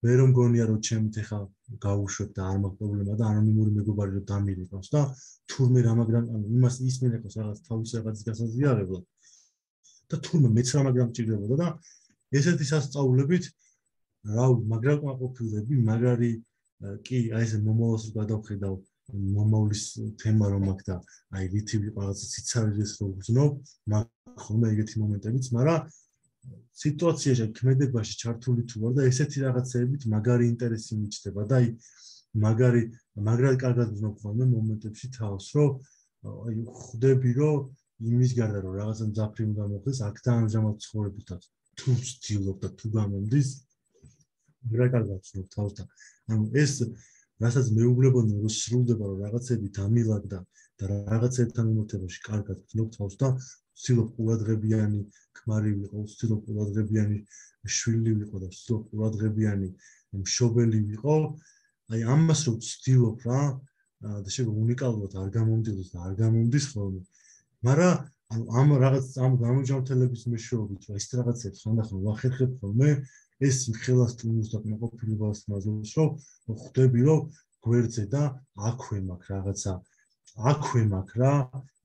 მე რომ გონია რომ ჩემით ეხა გავუშვებ და არ მაქვს პრობლემა და ანონიმური მეგობარი რომ დამირეკავს და თურმე რა მაგრამ ანუ იმას ის მენაკავს რაღაც თავის რაღაცის გასაზიარებლად და თურმე მეც რა მაგრამ ჭირდებოდა და ესეთი სასწაულებით რა მაგრამ ყოფილები მაგარი კი აი ეს მომავალს გადავხედავ მომავლის თემა რომ აქვს და აი რითი რაღაც სიცარიეს რო ვგზნობ მაგ ხოლმე ეგეთი მომენტებიც მაგრამ სიტუაციაში ქმედებაში ჩართული თუ ვარ და ესეთი რაღაცეებით მაგარი ინტერესი მიჩნდება და აი მაგარი მაგრად კარგად ვგზნობ ხოლმე მომენტებში თავს რომ აი ხვდები რომ იმის გარდა რომ რაღაცა მძაფრი უნდა მოხდეს აქ და ამჟამად ცხოვრებითაც თუ ვცდილობ და თუ გამომდის რა კარგად ვცნობ თავს და ანუ ეს რასაც მეუბნებოდი რომ სრულდება რომ რაღაცები დამილაგდა და რაღაცებთან მიმართებაში კარგად ვცნობ თავს და ვცდილობ ყურადღებიანი ქმარი ვიყო, ვცდილობ ყურადღებიანი შვილი ვიყო და ვცდილობ ყურადღებიანი მშობელი ვიყო. აი ამას რომ ვცდილობ რა და შეიძლება უნიკალურად არ გამომდიოს და არ გამომდის ხოლმე. მაგრამ ამ რაღაც ამ გამოჯამრთელების მეშვეობით რა ის რაღაცებს ხანდახან ვახერხებ ხოლმე ეს ხელას ტუნს და კმაყოფილებას მაძლევს რომ ხვდები რომ გვერდზე და აქვე მაქვს რაღაცა აქვე მაქვს რა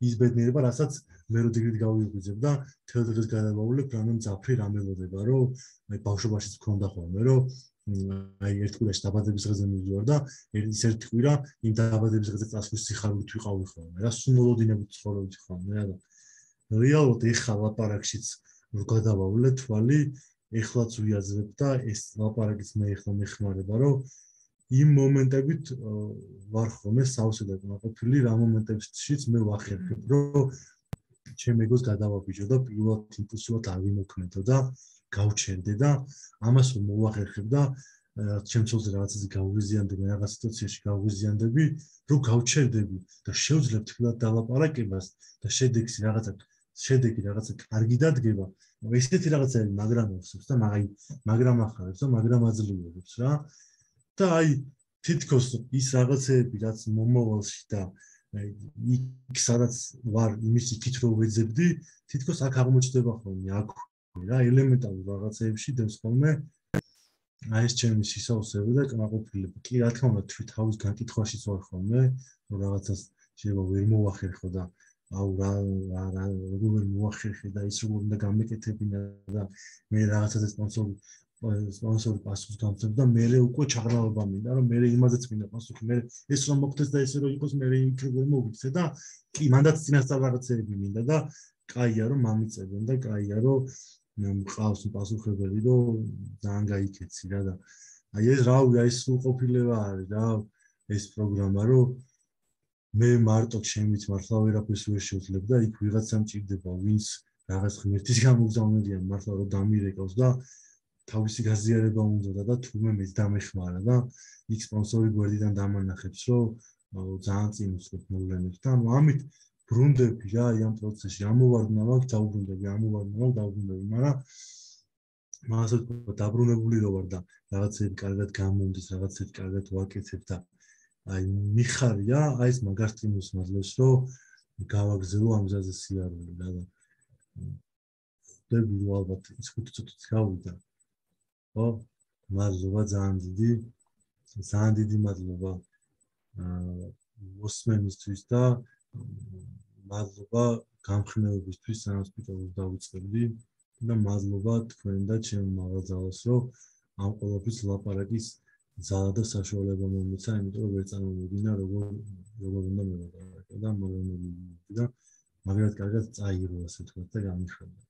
ის ბედნიერება რასაც მე რო დილით გავიღვიძებ და თელ დღეს გადავავლებ რამე მძაფრი რამელოდება რომ აი ბავშვობაშიც მქონდა ხოლმე რომ აი ერთ კვირაში დაბადების დღეზე მივიდივარ და ის ერთი კვირა იმ დაბადების დღეზე წასვლის სიხარულით ვიყავი ხოლმე რა სუნმოლოდინებით ცხოვრობდი ხოლმე რა და რეალურად ეხლა ლაპარაკშიც რო გადავავლე თვალი ეხლაც ვიაზრებ და ეს ლაპარაკიც მე ეხლა მეხმარება რომ იმ მომენტებით ვარ ხოლმე სავსე და კმაყოფილი რა მომენტებშიც მე ვახერხებ რომ ჩემ ეგოს გადავაბიჯო და პირველად იმპულსივად არ ვიმოქმედო და გავჩენდე და ამას რომ მოვახერხებ და ჩემცოლზე რაღაცაზე გავგვიზიანდები, რაღაც სიტუაციაში გავგვიზიანდები, რო გავჩერდები და შევძლებ თბილად დალაპარაკებას და შედეგი რაღაცა შედეგი რაღაცა კარგი დადგება, ესეთი რაღაცები მაგრამ ახსოვს და მაგ მაგრამ ახარებს და მაგრამ აძლიერებს რა. და აი თითქოს ის რაღაცები რაც მომავალში და იქ სადაც ვარ იმის იქით რო ვეძებდი, თითქოს აქ აღმოჩნდება ხოლმე აქ რა ელემენტარულ რაღაცეებში დევს ხოლმე აი ეს ჩემი სისავსები და კმაყოფილება. კი რა თქმა უნდა თვით თავის განკითხვაშიც ვარ ხოლმე, რომ რაღაცას შეიძლება ვერ მოვახერხო და აუ რა რა როგორ ვერ მოვახერხე და ის როგორ უნდა გამეკეთებინა და მე რაღაცაზე სპონსორი სპონსორი პასუხს გამწევ და მე უკვე ჩაღრმავება მინდა რომ მე იმაზეც მინდა პასუხი მე ეს რომ მოგდეს და ესე რომ იყოს მე იქ ვერ მოვიქცე და კი მანდაც წინასწარ რაღაცეები მინდა და კაია რომ მამიწებენ და კაია რომ მყავს პასუხებელი რომ ძალიან გაიქეცი რა და აი ეს რავი აი სრულყოფილება არის რა ეს პროგრამა რომ მე მარტო ჩემით მართლა ვერაფერს ვერ შევძლებ და იქ ვიღაცა მჭირდება ვინც რაღაც ღმერთის გამოგზავნილია მართლა რომ დამირეკავს და თავისი გაზიარება უნდა და თურმე მეც დამეხმარა და იქ სპონსორი გვერდიდან დამანახებს რომ ძალიან წინ უცხოთ მოვლენებს და ამით ბრუნდები რა ამ პროცესში ამოვარდნა მაგ დაუბრუნდები ამოვარდნა მაგ დაუბრუნდები მაგრამ მაგას ვთქვა დაბრუნებული რო ვარ და რაღაცები კარგად გამომდის რაღაცები კარგად ვაკეთებ და აი მიხარია აი ეს მაგარ სტიმულს მაძლევს რომ გავაგზავნო ამ გზაზე სიარული რა და ხდები რომ ალბათ ის ხუთი წუთიც გავიდა ხო მადლობა ძალიან დიდი ძალიან დიდი მადლობა მოსმენისთვის და მადლობა გამხნევებისთვის სანსპიტალოს დავიწყებდი და მადლობა თქვენ და ჩემ მაღაზიას რომ ამ ყოველთვის ლაპარაკის ძალა და საშუალება მომეცა, იმიტომ რომ ვერ წარმოვიდგინა როგორ როგორ უნდა მოვაყარე და მოგონებდი და მაგრამ კარგად წაიღო ასე თქვა და გამიშვება